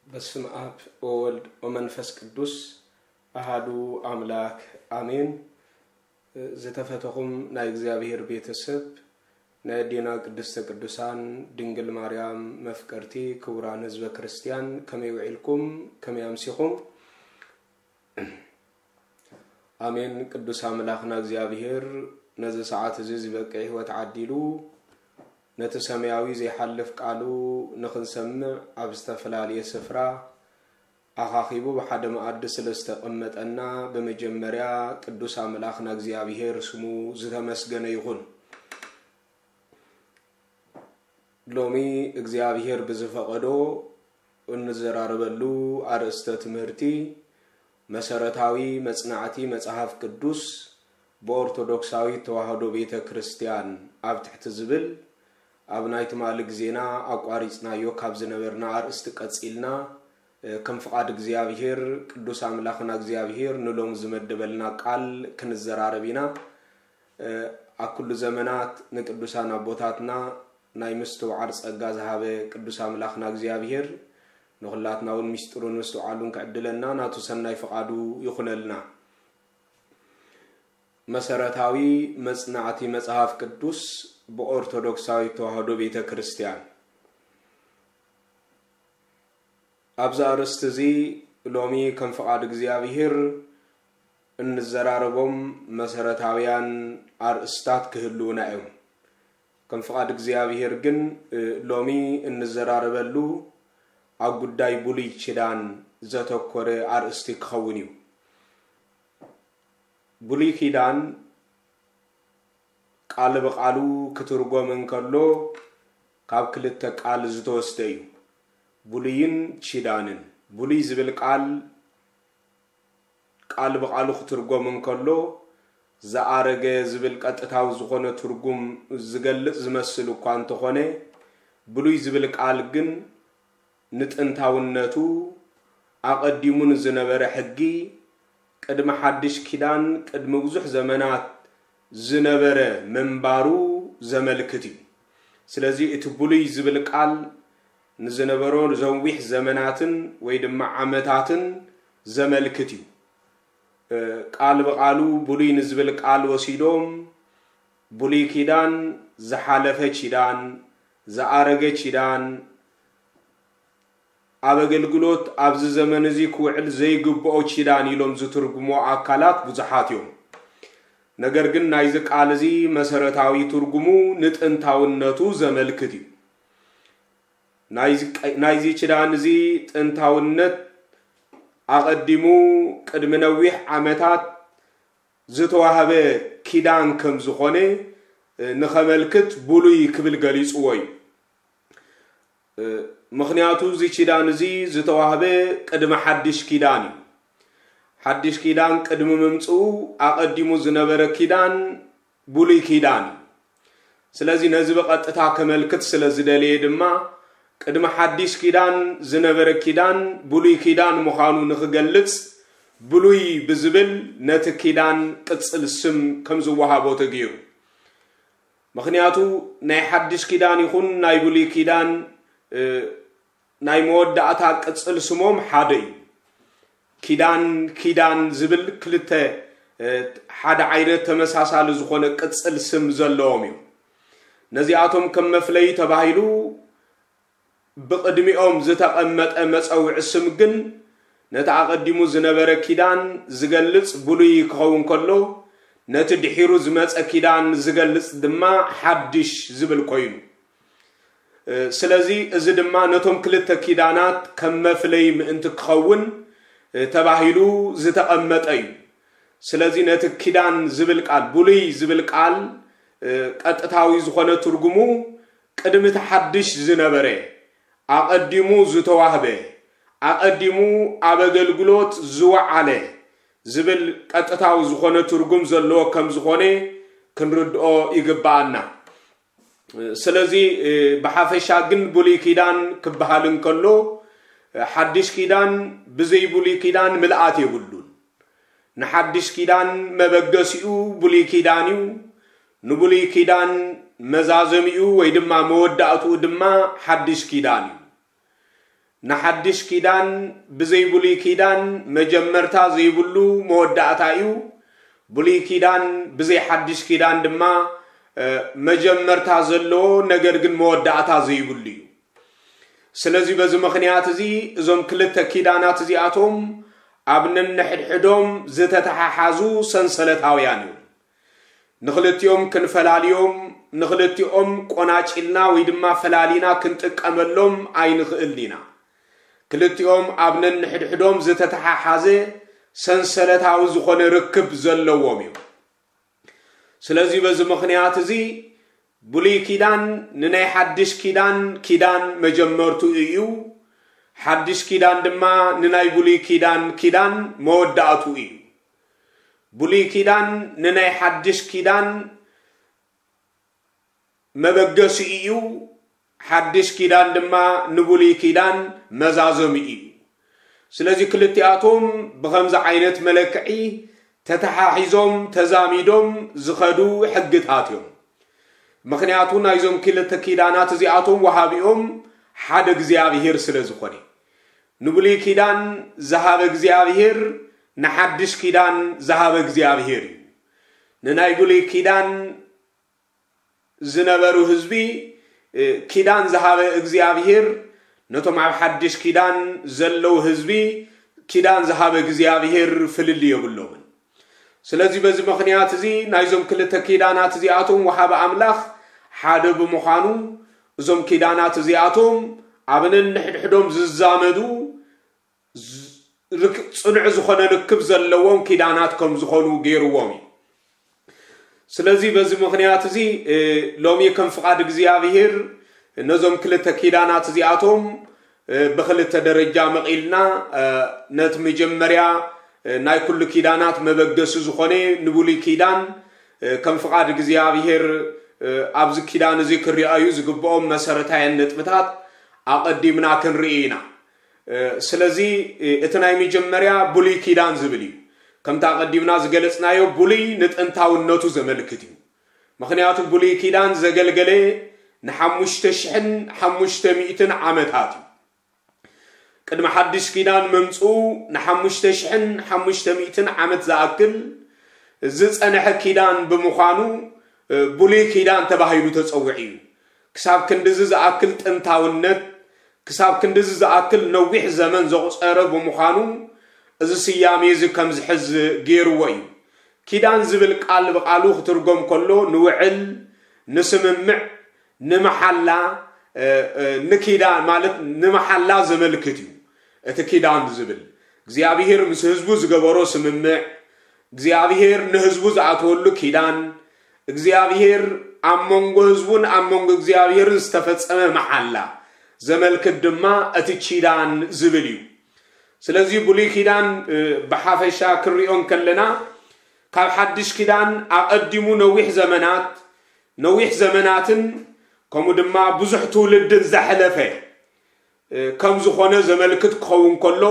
በስመ አብ ወወልድ ወመንፈስ ቅዱስ አሃዱ አምላክ አሜን። ዝተፈተኹም ናይ እግዚኣብሔር ቤተሰብ፣ ናይ ኣዴና ቅድስተ ቅዱሳን ድንግል ማርያም መፍቀርቲ፣ ክቡራን ህዝበ ክርስቲያን፣ ከመይ ውዒልኩም? ከመይ ኣምሲኹም? ኣሜን። ቅዱስ ኣምላኽና እግዚኣብሔር ነዚ ሰዓት እዚ ዝበቅዕ ህይወት ዓዲሉ፣ ነቲ ሰማያዊ ዘይሓልፍ ቃሉ ንኽንሰምዕ ኣብ ዝተፈላለየ ስፍራ ኣኻኺቡ ብሓደ መኣዲ ስለ ዝተቐመጠና፣ ብመጀመርያ ቅዱስ ኣምላኽና እግዚኣብሔር ስሙ ዝተመስገነ ይኹን። ሎሚ እግዚኣብሔር ብዝፈቐዶ እንዘራረበሉ ኣርእስተ ትምህርቲ፣ መሰረታዊ መጽናዕቲ መጽሓፍ ቅዱስ ብኦርቶዶክሳዊት ተዋህዶ ቤተ ክርስቲያን ኣብ ትሕቲ ዝብል፣ ኣብ ናይ ትማሊ ግዜና ኣቋሪጽናዮ ካብ ዝነበርና ኣርእስቲ ቀጺልና፣ እ፣ ከም ፍቓድ እግዚኣብሔር፣ ቅዱስ ኣምላኽና እግዚኣብሔር ንሎሚ ዝመደበልና ቃል ክንዘራረብ ኢና። እ፣ ኣብ ኩሉ ዘመናት ንቅዱሳን ኣቦታትና ናይ ምስትውዓል ጸጋ ዝሃበ ቅዱስ ኣምላኽና እግዚኣብሔር፣ ንኹላትና እውን ምስጢሩን ምስትውዓሉን ክዕድለና ናቱ ሰናይ ፍቓዱ ይኹነልና። መሰረታዊ መጽናዕቲ መጽሓፍ ቅዱስ ብኦርቶዶክሳዊት ተዋህዶ ቤተ ክርስቲያን። ኣብዚ ኣርእስቲ እዚ ሎሚ ከም ፍቓድ እግዚኣብሔር እንዘራረቦም መሰረታውያን ኣርእስታት ክህልዉና እዮም። ከም ፍቓድ እግዚኣብሔር ግን፣ እ፣ ሎሚ እንዘራረበሉ ኣብ ጉዳይ ብሉይ ኪዳን ዘተኮረ ኣርእስቲ ክኸውን እዩ። ብሉይ ኪዳን ቃል ብቃሉ ክትርጎም እንከሎ ካብ ክልተ ቃል ዝተወስደ እዩ። ብሉይን ኪዳንን። ብሉይ ዝብል ቃል፣ ቃል ብቃሉ ክትርጎም እንከሎ፣ ዝኣረገ ዝብል ቀጥታዊ ዝኾነ ትርጉም ዝገልጽ ዝመስል እኳ እንተኾነ፣ ብሉይ ዝብል ቃል ግን ንጥንታውነቱ፣ ኣቐዲሙ ንዝነበረ ሕጊ፣ ቅድሚ ሓድሽ ኪዳን፣ ቅድሚ ብዙሕ ዘመናት ዝነበረ ምንባሩ ዘመልክት እዩ። ስለዚ እቲ ብሉይ ዝብል ቃል ንዝነበሮ ዘዊሕ ዘመናትን ወይ ድማ ዓመታትን ዘመልክት እዩ። እ፣ ቃል ብቃሉ ብሉይ ንዝብል ቃል ወሲዶም፣ ብሉይ ኪዳን፣ ዝሓለፈ ኪዳን፣ ዝኣረገ ኪዳን፣ ኣብ ኣገልግሎት ኣብዚ ዘመን እዚ ክውዕል ዘይግብኦ ኪዳን ኢሎም ዝትርጉሞ ኣካላት ብዙሓት እዮም። ነገር ግን ናይዚ ቃል እዚ መሰረታዊ ትርጉሙ ንጥንታውነቱ ዘመልክት እዩ። ናይዚ ቀ-፣ ናይዚ ኪዳን እዚ ጥንታውነት ኣቐዲሙ ቅድሚ ነዊሕ ዓመታት ዝተዋህበ ኪዳን ከም ዝኾነ፣ እ፣ ንኸመልክት ብሉይ ክብል ገሊጽዎ እዩ። እ፣ ምኽንያቱ እዚ ኪዳን እዚ ዝተዋህበ ቅድሚ ሓድሽ ኪዳን እዩ። ሓድሽ ኪዳን ቅድሚ ምምጽኡ ኣቐዲሙ ዝነበረ ኪዳን ብሉይ ኪዳን እዩ። ስለዚ ነዚ ብቐጥታ ከመልክት ስለ ዝደለየ ድማ ቅድሚ ሓድሽ ኪዳን ዝነበረ ኪዳን ብሉይ ኪዳን ምዃኑ ንኽገልጽ ብሉይ ብዝብል ነቲ ኪዳን ቅጽል ስም ከም ዝወሃቦ ተገይሩ። ምኽንያቱ ናይ ሓድሽ ኪዳን ይኹን ናይ ብሉይ ኪዳን፣ እ፣ ናይ መወዳእታ ቅጽል ስሞም ሓደ እዩ። ኪዳን፣ ኪዳን ዝብል ክልተ፣ እ፣ ሓደ ዓይነት ተመሳሳሊ ዝኾነ ቅጽል ስም ዘለዎም እዩ። ነዚኣቶም ከም መፍለዪ ተባሂሉ ብቕድሚኦም ዝተቐመጠ መጸውዒ ስም ግን ነቲ ኣቐዲሙ ዝነበረ ኪዳን ዝገልጽ ብሉይ ክኸውን ከሎ፣ ነቲ ድሒሩ ዝመጸ ኪዳን ዝገልጽ ድማ ሓድሽ ዝብል ኮይኑ፣ እ፣ ስለዚ እዚ ድማ ነቶም ክልተ ኪዳናት ከም መፍለይ ምእንቲ ክኸውን፣ እ፣ ተባሂሉ ዝተቐመጠ እዩ። ስለዚ ነቲ ኪዳን ዝብል ቃል፣ ብሉይ ዝብል ቃል፣ እ፣ ቀጥታዊ ዝኾነ ትርጉሙ ቅድሚ እቲ ሓድሽ ዝነበረ፣ ኣቐዲሙ ዝተዋህበ፣ ኣቐዲሙ ኣብ ኣገልግሎት ዝወዓለ ዝብል ቀጥታዊ ዝኾነ ትርጉም ዘለዎ ከም ዝኾነ ክንርድኦ ይግብኣና። ስለዚ ብሓፈሻ ግን ብሉይ ኪዳን ክበሃል እንከሎ ሓድሽ ኪዳን ብዘይ ብሉይ ኪዳን ምልኣት የብሉን። ንሓድሽ ኪዳን መበገሲኡ ብሉይ ኪዳን እዩ። ንብሉይ ኪዳን መዛዘሚኡ ወይ ድማ መወዳእትኡ ድማ ሓድሽ ኪዳን እዩ። ንሓድሽ ኪዳን ብዘይ ብሉይ ኪዳን መጀመርታ ዘይብሉ መወዳእታ እዩ። ብሉይ ኪዳን ብዘይ ሓድሽ ኪዳን ድማ መጀመርታ ዘለዎ ነገር ግን መወዳእታ ዘይብሉ እዩ። ስለዚ በዚ ምኽንያት እዚ እዞም ክልተ ኪዳናት እዚኣቶም ኣብ ነንሕድሕዶም ዝተተሓሓዙ ሰንሰለታውያን እዮም። ንኽልቲኦም ክንፈላልዮም፣ ንኽልቲኦም ቆናጭልና ወይ ድማ ፈላሊና ክንጥቀመሎም ኣይንኽእልን ኢና። ክልቲኦም ኣብ ነንሕድሕዶም ዝተተሓሓዘ ሰንሰለታዊ ዝኾነ ርክብ ዘለዎም እዮም። ስለዚ በዚ ምኽንያት እዚ ብሉይ ኪዳን ንናይ ሓድሽ ኪዳን ኪዳን መጀመርቱ እዩ። ሓድሽ ኪዳን ድማ ንናይ ብሉይ ኪዳን ኪዳን መወዳእቱ እዩ። ብሉይ ኪዳን ንናይ ሓድሽ ኪዳን መበገሲኡ እዩ። ሓድሽ ኪዳን ድማ ንብሉይ ኪዳን መዛዘሚኡ እዩ። ስለዚ ክልቲኣቶም ብኸምዚ ዓይነት መለክዒ ተተሓሒዞም ተዛሚዶም ዝኸዱ ሕግታት እዮም። ምኽንያቱ ናይዞም ክልተ ኪዳናት እዚኣቶም ወሃቢኦም ሓደ እግዚኣብሄር ስለ ዝኾነ፣ ንብሉይ ኪዳን ዝሃበ እግዚኣብሄር ንሓድሽ ኪዳን ዝሃበ እግዚኣብሄር እዩ። ንናይ ብሉይ ኪዳን ዝነበሩ ህዝቢ ኪዳን ዝሃበ እግዚኣብሄር ነቶም ኣብ ሓድሽ ኪዳን ዘለዉ ህዝቢ ኪዳን ዝሃበ እግዚኣብሄር ፍልልይ የብሎምን። ስለዚ በዚ ምኽንያት እዚ ናይዞም ክልተ ኪዳናት እዚኣቶም ወሃቢ ኣምላኽ ሓደ ብምዃኑ እዞም ኪዳናት እዚኣቶም ኣብ ነንሕድሕዶም ዝዛመዱ ጽኑዕ ዝኾነ ርክብ ዘለዎም ኪዳናት ከም ዝኾኑ ገይርዎም እዩ። ስለዚ በዚ ምኽንያት እዚ ሎሚ ከም ፍቓድ እግዚኣብሄር ነዞም ክልተ ኪዳናት እዚኣቶም ብኽልተ ደረጃ መቒልና ነቲ መጀመርያ ናይ ኩሉ ኪዳናት መበገሲ ዝኾነ ንብሉይ ኪዳን ከም ፍቓድ እግዚኣብሄር ኣብዚ ኪዳን እዚ ክርኣዩ ዝግብኦም መሰረታውያን ነጥብታት ኣቐዲምና ክንርኢ ኢና። ስለዚ እቲ ናይ መጀመርያ ብሉይ ኪዳን ዝብል እዩ። ከምቲ ኣቐዲምና ዝገለጽናዮ ብሉይ ንጥንታውነቱ ዘመልክት እዩ። ምኽንያቱ ብሉይ ኪዳን ዘገልገለ ንሓሙሽተ ሽሕን ሓሙሽተ ሚእትን ዓመታት እዩ። ቅድሚ ሓድሽ ኪዳን ምምፅኡ ንሓሙሽተ ሽሕን ሓሙሽተ ሚእትን ዓመት ዝኣክል ዝፀንሐ ኪዳን ብምዃኑ ብሉይ ኪዳን ተባሂሉ ተፀውዒ እዩ። ክሳብ ክንድዚ ዝኣክል ጥንታውነት ክሳብ ክንድዚ ዝኣክል ነዊሕ ዘመን ዘቑጸረ ብምዃኑ፣ እዚ ስያሜ እዚ ከም ዝሕዝ ገይርዎ እዩ። ኪዳን ዝብል ቃል ብቓሉ ክትርጎም ከሎ ንውዕል፣ ንስምምዕ፣ ንመሓላ፣ ንኪዳን ማለት ንመሓላ ዘመልክት እዩ። እቲ ኪዳን ዝብል እግዚኣብሄር ምስ ህዝቡ ዝገበሮ ስምምዕ፣ እግዚኣብሄር ንህዝቡ ዝኣተወሉ ኪዳን፣ እግዚኣብሄር ኣብ መንጎ ህዝቡን ኣብ መንጎ እግዚኣብሄርን ዝተፈጸመ መሓላ ዘመልክት ድማ እቲ ኪዳን ዝብል እዩ። ስለዚ ብሉይ ኪዳን ብሓፈሻ ክንሪኦ እንከለና ካብ ሓድሽ ኪዳን ኣቐዲሙ ነዊሕ ዘመናት ነዊሕ ዘመናትን ከምኡ ድማ ብዙሕ ትውልድን ዘሕለፈ ከም ዝኾነ ዘመልክት ክኸውን ከሎ፣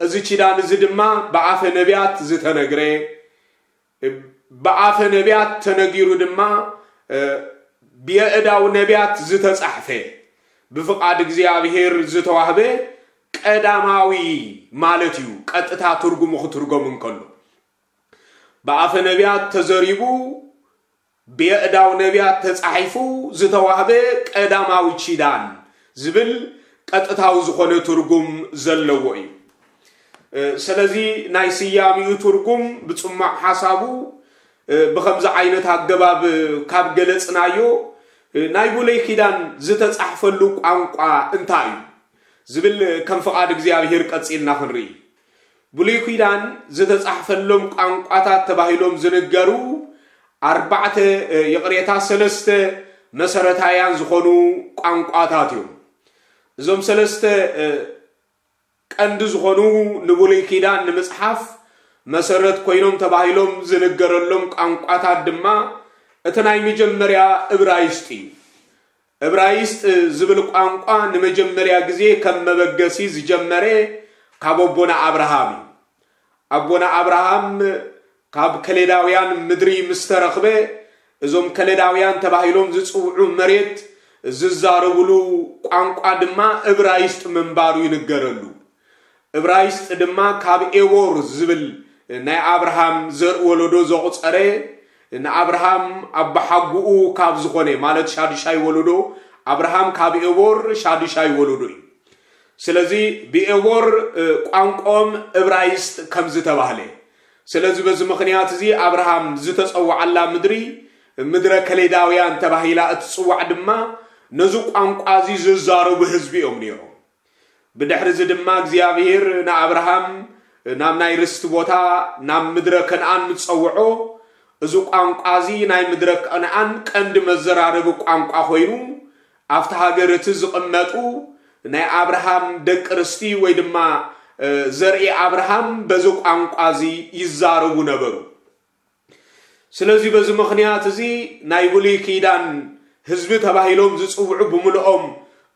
እዚ ኪዳን እዚ ድማ ብኣፈ ነቢያት ዝተነግረ፣ ብኣፈ ነቢያት ተነጊሩ ድማ ብየእዳው ነቢያት ዝተጻሕፈ፣ ብፍቓድ እግዚኣብሔር ዝተዋህበ ቀዳማዊ ማለት እዩ። ቀጥታ ትርጉሙ ክትርጎም እንከሎ ብኣፈ ነቢያት ተዘሪቡ ብየእዳው ነቢያት ተጻሒፉ ዝተዋህበ ቀዳማዊ ኪዳን ዝብል ቀጥታዊ ዝኾነ ትርጉም ዘለዎ እዩ። ስለዚ ናይ ስያሜኡ ትርጉም ብጽማቕ ሓሳቡ ብኸምዚ ዓይነት ኣገባብ ካብ ገለጽናዮ፣ ናይ ብሉይ ኪዳን ዝተጻሕፈሉ ቋንቋ እንታይ እዩ ዝብል ከም ፍቓድ እግዚኣብሔር ቀጺልና ክንርኢ። ብሉይ ኪዳን ዝተጻሕፈሎም ቋንቋታት ተባሂሎም ዝንገሩ ኣርባዕተ፣ ይቕሬታ፣ ሰለስተ መሰረታውያን ዝኾኑ ቋንቋታት እዮም። እዞም ሰለስተ ቀንዲ ዝኾኑ ንብሉይ ኪዳን ንምጽሓፍ መሰረት ኮይኖም ተባሂሎም ዝንገረሎም ቋንቋታት ድማ እቲ ናይ መጀመርያ እብራይስጥ እዩ። እብራይስጥ ዝብል ቋንቋ ንመጀመርያ ግዜ ከም መበገሲ ዝጀመረ ካብ ኣቦና ኣብርሃም እዩ። ኣቦና ኣብርሃም ካብ ከለዳውያን ምድሪ ምስ ተረኽበ፣ እዞም ከለዳውያን ተባሂሎም ዝጽውዑ መሬት ዝዛረብሉ ቋንቋ ድማ እብራይስጥ ምንባሩ ይንገረሉ። እብራይስጥ ድማ ካብ ኤቦር ዝብል ናይ ኣብርሃም ዘርኢ ወለዶ ዘቑጸረ፣ ንኣብርሃም ኣባሓጉኡ ካብ ዝኾነ፣ ማለት ሻዱሻይ ወለዶ፣ ኣብርሃም ካብ ኤቦር ሻዱሻይ ወለዶ እዩ። ስለዚ ብኤቦር ቋንቋኦም እብራይስጥ ከም ዝተባህለ፣ ስለዚ በዚ ምኽንያት እዚ ኣብርሃም ዝተጸውዓላ ምድሪ ምድረ ከሌዳውያን ተባሂላ እትጽዋዕ ድማ ነዚ ቋንቋ እዚ ዝዛረቡ ህዝቢ እዮም ነይሮም። ብድሕሪ እዚ ድማ እግዚኣብሔር ንኣብርሃም ናብ ናይ ርስቲ ቦታ ናብ ምድረ ከነኣን ምስ ጸውዖ፣ እዚ ቋንቋ እዚ ናይ ምድረ ከነኣን ቀንዲ መዘራረቢ ቋንቋ ኮይኑ፣ ኣብቲ ሃገር እቲ ዝቕመጡ ናይ ኣብርሃም ደቂ ርስቲ ወይ ድማ ዘርኢ ኣብርሃም በዚ ቋንቋ እዚ ይዛረቡ ነበሩ። ስለዚ በዚ ምኽንያት እዚ ናይ ብሉይ ኪዳን ህዝቢ ተባሂሎም ዝጽውዑ ብምልኦም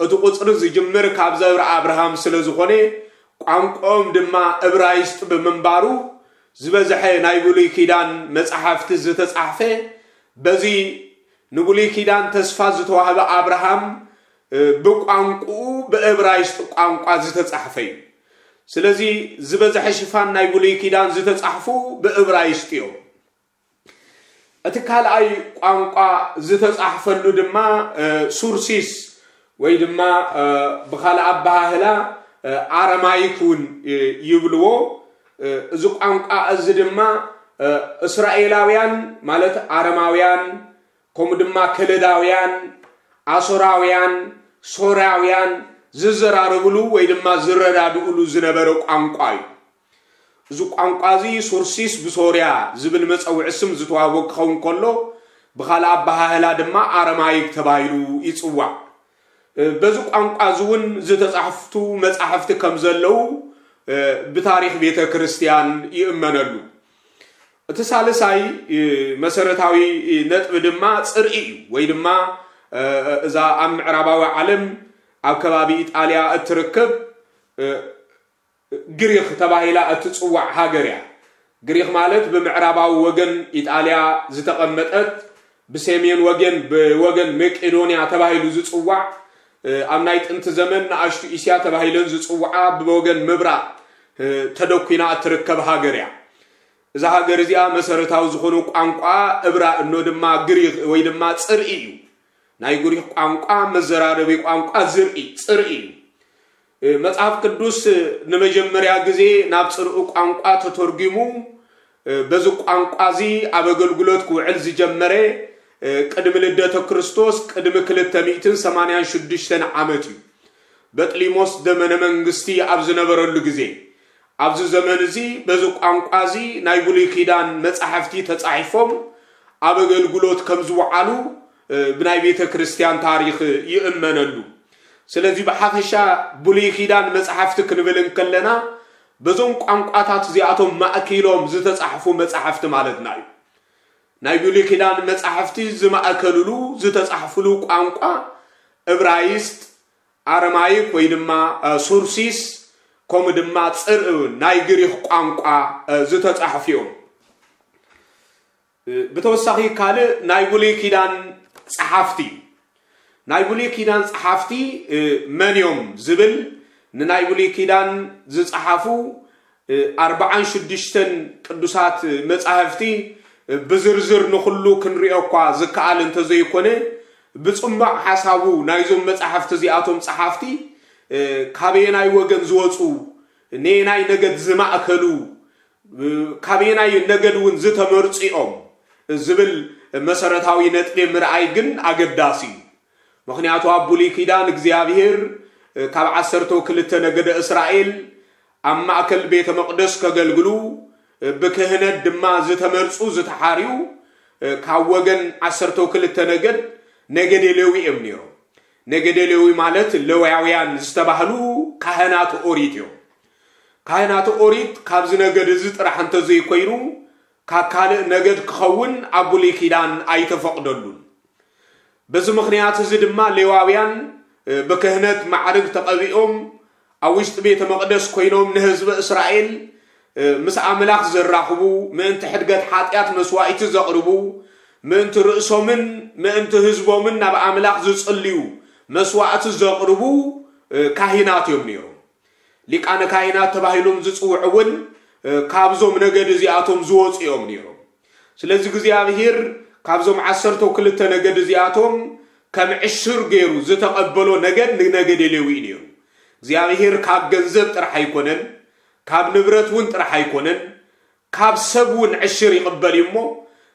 እቲ ቁጽሪ ዝጅምር ካብ ዘርኢ ኣብርሃም ስለ ዝኾነ፣ ቋንቋኦም ድማ እብራይስጥ ብምንባሩ፣ ዝበዝሐ ናይ ብሉይ ኪዳን መጻሕፍቲ ዝተጻሕፈ በዚ ንብሉይ ኪዳን ተስፋ ዝተዋህበ ኣብርሃም ብቋንቋኡ ብእብራይስጥ ቋንቋ ዝተጻሕፈ እዩ። ስለዚ ዝበዝሐ ሽፋን ናይ ብሉይ ኪዳን ዝተጻሕፉ ብእብራይስጥ እዮም። እቲ ካልኣይ ቋንቋ ዝተጻሕፈሉ ድማ ሱርሲስ ወይ ድማ ብኻልእ ኣበሃህላ ኣረማይክ እውን ይብልዎ። እዚ ቋንቋ እዚ ድማ እስራኤላውያን ማለት ኣረማውያን ከምኡ ድማ ከለዳውያን፣ ኣሶራውያን፣ ሶርያውያን ዝዘራረብሉ ወይ ድማ ዝረዳድእሉ ዝነበረ ቋንቋ እዩ። እዚ ቋንቋ እዚ ሱርሲስ ብሶርያ ዝብል መጸውዒ ስም ዝተዋህቦ ክኸውን ከሎ፣ ብኻልእ ኣበሃህላ ድማ ኣረማይክ ተባሂሉ ይጽዋዕ። በዚ ቋንቋ እዚ እውን ዝተጻሕፍቱ መጻሕፍቲ ከም ዘለዉ ብታሪኽ ቤተ ክርስቲያን ይእመነሉ። እቲ ሳልሳይ መሰረታዊ ነጥቢ ድማ ጽርኢ እዩ፣ ወይ ድማ እዛ ኣብ ምዕራባዊ ዓለም ኣብ ከባቢ ኢጣልያ እትርከብ ግሪኽ ተባሂላ እትጽዋዕ ሃገር እያ። ግሪኽ ማለት ብምዕራባዊ ወገን ኢጣልያ ዝተቐመጠት፣ ብሰሜን ወገን ብወገን መቄዶንያ ተባሂሉ ዝጽዋዕ፣ ኣብ ናይ ጥንቲ ዘመን ንኣሽቱ እስያ ተባሂለን ዝጽውዓ ብወገን ምብራቕ ተደኲና እትርከብ ሃገር እያ። እዛ ሃገር እዚኣ መሰረታዊ ዝኾኑ ቋንቋ እብራ እኖ ድማ ግሪኽ ወይ ድማ ጽርኢ እዩ። ናይ ግሪኽ ቋንቋ መዘራረቢ ቋንቋ ዝርኢ ጽርኢ እዩ። መጽሓፍ ቅዱስ ንመጀመርያ ግዜ ናብ ጽርኡ ቋንቋ ተተርጒሙ፣ በዚ ቋንቋ እዚ ኣብ ኣገልግሎት ክውዕል ዝጀመረ ቅድሚ ልደተ ክርስቶስ ቅድሚ ክልተ ሚእትን ሰማንያን ሽዱሽተን ዓመት እዩ። በጥሊሞስ ዘመነ መንግስቲ ኣብ ዝነበረሉ ግዜ፣ ኣብዚ ዘመን እዚ በዚ ቋንቋ እዚ ናይ ብሉይ ኪዳን መጻሕፍቲ ተጻሒፎም ኣብ ኣገልግሎት ከም ዝወዓሉ ብናይ ቤተ ክርስቲያን ታሪኽ ይእመነሉ። ስለዚ ብሓፈሻ ብሉይ ኪዳን መጻሕፍቲ ክንብል እንከለና በዞም ቋንቋታት እዚኣቶም ማእኪሎም ዝተጻሕፉ መጻሕፍቲ ማለትና እዩ። ናይ ብሉይ ኪዳን መጻሕፍቲ ዝማእከልሉ ዝተጻሕፍሉ ቋንቋ እብራይስጥ፣ ኣረማይክ ወይ ድማ ሱርሲስ ከምኡ ድማ ጽርኢ ናይ ግሪኽ ቋንቋ ዝተጻሕፉ እዮም። ብተወሳኺ ካልእ ናይ ብሉይ ኪዳን ጸሓፍቲ እዩ። ናይ ብሉይ ኪዳን ጸሓፍቲ መን እዮም ዝብል ንናይ ብሉይ ኪዳን ዝጸሓፉ ኣርባዓን ሽዱሽተን ቅዱሳት መጻሕፍቲ ብዝርዝር ንኹሉ ክንሪኦ እኳ ዝከኣል እንተዘይኮነ፣ ብጽማቕ ሓሳቡ ናይዞም መጻሕፍቲ እዚኣቶም ጸሓፍቲ ካበየናይ ወገን ዝወጹ፣ ነየናይ ነገድ ዝማእከሉ፣ ካበየናይ ነገድ እውን ዝተመርጹ እዮም ዝብል መሰረታዊ ነጥቢ ምርኣይ ግን ኣገዳሲ እዩ። ምኽንያቱ ኣብ ብሉይ ኪዳን እግዚኣብሔር ካብ ዓሰርተው ክልተ ነገደ እስራኤል ኣብ ማእከል ቤተ መቕደስ ከገልግሉ፣ ብክህነት ድማ ዝተመርጹ ዝተሓርዩ ካብ ወገን ዓሰርተው ክልተ ነገድ፣ ነገደ ሌዊ እዮም ነይሮም። ነገደ ሌዊ ማለት ሌዋውያን ዝተባህሉ ካህናት ኦሪት እዮም። ካህናት ኦሪት ካብዚ ነገድ እዚ ጥራሕ እንተዘይኮይኑ ካብ ካልእ ነገድ ክኸውን ኣብ ብሉይ ኪዳን ኣይተፈቕደሉን። በዚ ምኽንያት እዚ ድማ ሌዋውያን ብክህነት ማዕርግ ተቐቢኦም ኣብ ውሽጢ ቤተ መቕደስ ኮይኖም ንህዝቢ እስራኤል ምስ ኣምላኽ ዘራኽቡ፣ ምእንቲ ሕድገት ሓጢኣት መስዋእቲ ዘቕርቡ፣ ምእንቲ ርእሶምን ምእንቲ ህዝቦምን ናብ ኣምላኽ ዝጽልዩ መስዋእቲ ዘቕርቡ ካህናት እዮም ነይሮም። ሊቃነ ካህናት ተባሂሎም ዝጽውዑ እውን ካብዞም ነገድ እዚኣቶም ዝወፁ እዮም ነይሮም። ስለዚ እግዚኣብሔር ካብዞም ዓሰርተው ክልተ ነገድ እዚኣቶም ከም ዕሽር ገይሩ ዝተቐበሎ ነገድ ንነገደ ሌዊ እዩ ነይሩ። እግዚኣብሔር ካብ ገንዘብ ጥራሕ ኣይኮነን፣ ካብ ንብረት እውን ጥራሕ ኣይኮነን፣ ካብ ሰብ እውን ዕሽር ይቕበል እዩ እሞ፣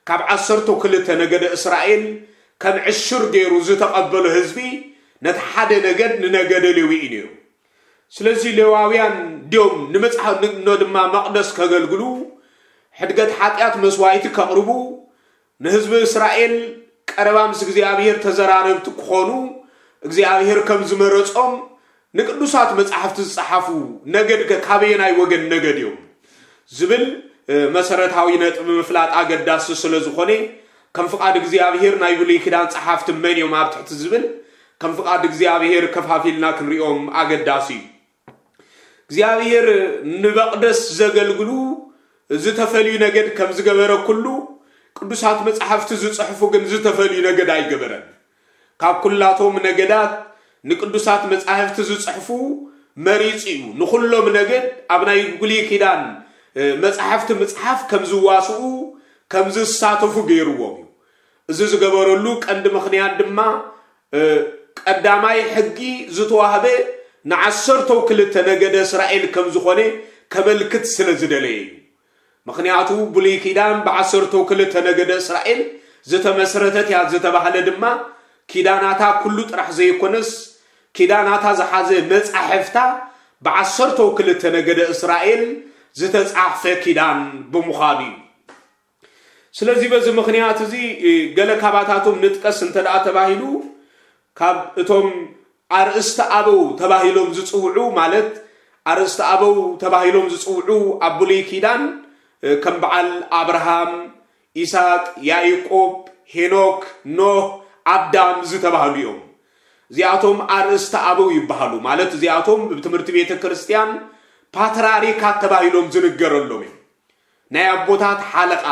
ካብ ዓሰርተው ክልተ ነገደ እስራኤል ከም ዕሽር ገይሩ ዝተቐበሎ ህዝቢ ነቲ ሓደ ነገድ ንነገደ ሌዊ እዩ ነይሩ። ስለዚ ሌዋውያን ድዮም ንመጽሓ ንግኖ ድማ መቕደስ ከገልግሉ፣ ሕድገት ሓጢኣት መስዋእቲ ከቕርቡ፣ ንህዝቢ እስራኤል ቀረባ ምስ እግዚኣብሔር ተዘራረብቲ ክኾኑ እግዚኣብሔር ከም ዝመረጾም ንቅዱሳት መጻሕፍቲ ዝጸሓፉ ነገድ ከ ካበየናይ ወገን ነገድ እዮም ዝብል መሰረታዊ ነጥቢ ምፍላጥ ኣገዳሲ ስለ ዝኾነ፣ ከም ፍቓድ እግዚኣብሔር ናይ ብሉይ ኪዳን ጸሓፍቲ መን እዮም ኣብ ትሕቲ ዝብል ከም ፍቓድ እግዚኣብሔር ከፋፊልና ክንሪኦም ኣገዳሲ እዩ። እግዚኣብሔር ንመቕደስ ዘገልግሉ ዝተፈልዩ ነገድ ከም ዝገበረ ኩሉ ቅዱሳት መጻሕፍቲ ዝጽሕፉ ግን ዝተፈልዩ ነገድ ኣይገበረን። ካብ ኩላቶም ነገዳት ንቅዱሳት መጻሕፍቲ ዝጽሕፉ መሪጹ እዩ። ንኹሎም ነገድ ኣብ ናይ ብሉይ ኪዳን መጻሕፍቲ ምጽሓፍ ከም ዝዋስኡ ከም ዝሳተፉ ገይርዎም እዩ። እዚ ዝገበረሉ ቀንዲ ምኽንያት ድማ ቀዳማይ ሕጊ ዝተዋህበ ንዓሰርተው ክልተ ነገደ እስራኤል ከም ዝኾነ ከመልክት ስለ ዝደለየ እዩ። ምኽንያቱ ብሉይ ኪዳን ብዓሰርተው ክልተ ነገደ እስራኤል ዝተመስረተት እያ ዝተባህለ ድማ ኪዳናታ ኩሉ ጥራሕ ዘይኮነስ ኪዳናታ ዝሓዘ መጻሕፍታ ብዓሰርተው ክልተ ነገደ እስራኤል ዝተጻሕፈ ኪዳን ብምዃኑ እዩ። ስለዚ በዚ ምኽንያት እዚ ገለ ካባታቶም ንጥቀስ እንተ ደኣ ተባሂሉ ካብ እቶም ኣርእስቲ ኣበው ተባሂሎም ዝጽውዑ ማለት ኣርእስቲ ኣበው ተባሂሎም ዝጽውዑ ኣብ ብሉይ ኪዳን ከም በዓል ኣብርሃም፣ ኢሳቅ፣ ያዕቆብ፣ ሄኖክ፣ ኖህ፣ ኣዳም ዝተባህሉ እዮም። እዚኣቶም ኣርእስቲ ኣበው ይበሃሉ። ማለት እዚኣቶም ብትምህርቲ ቤተ ክርስቲያን ፓትራሪካት ተባሂሎም ዝንገረሎም እዮም። ናይ ኣቦታት ሓለቓ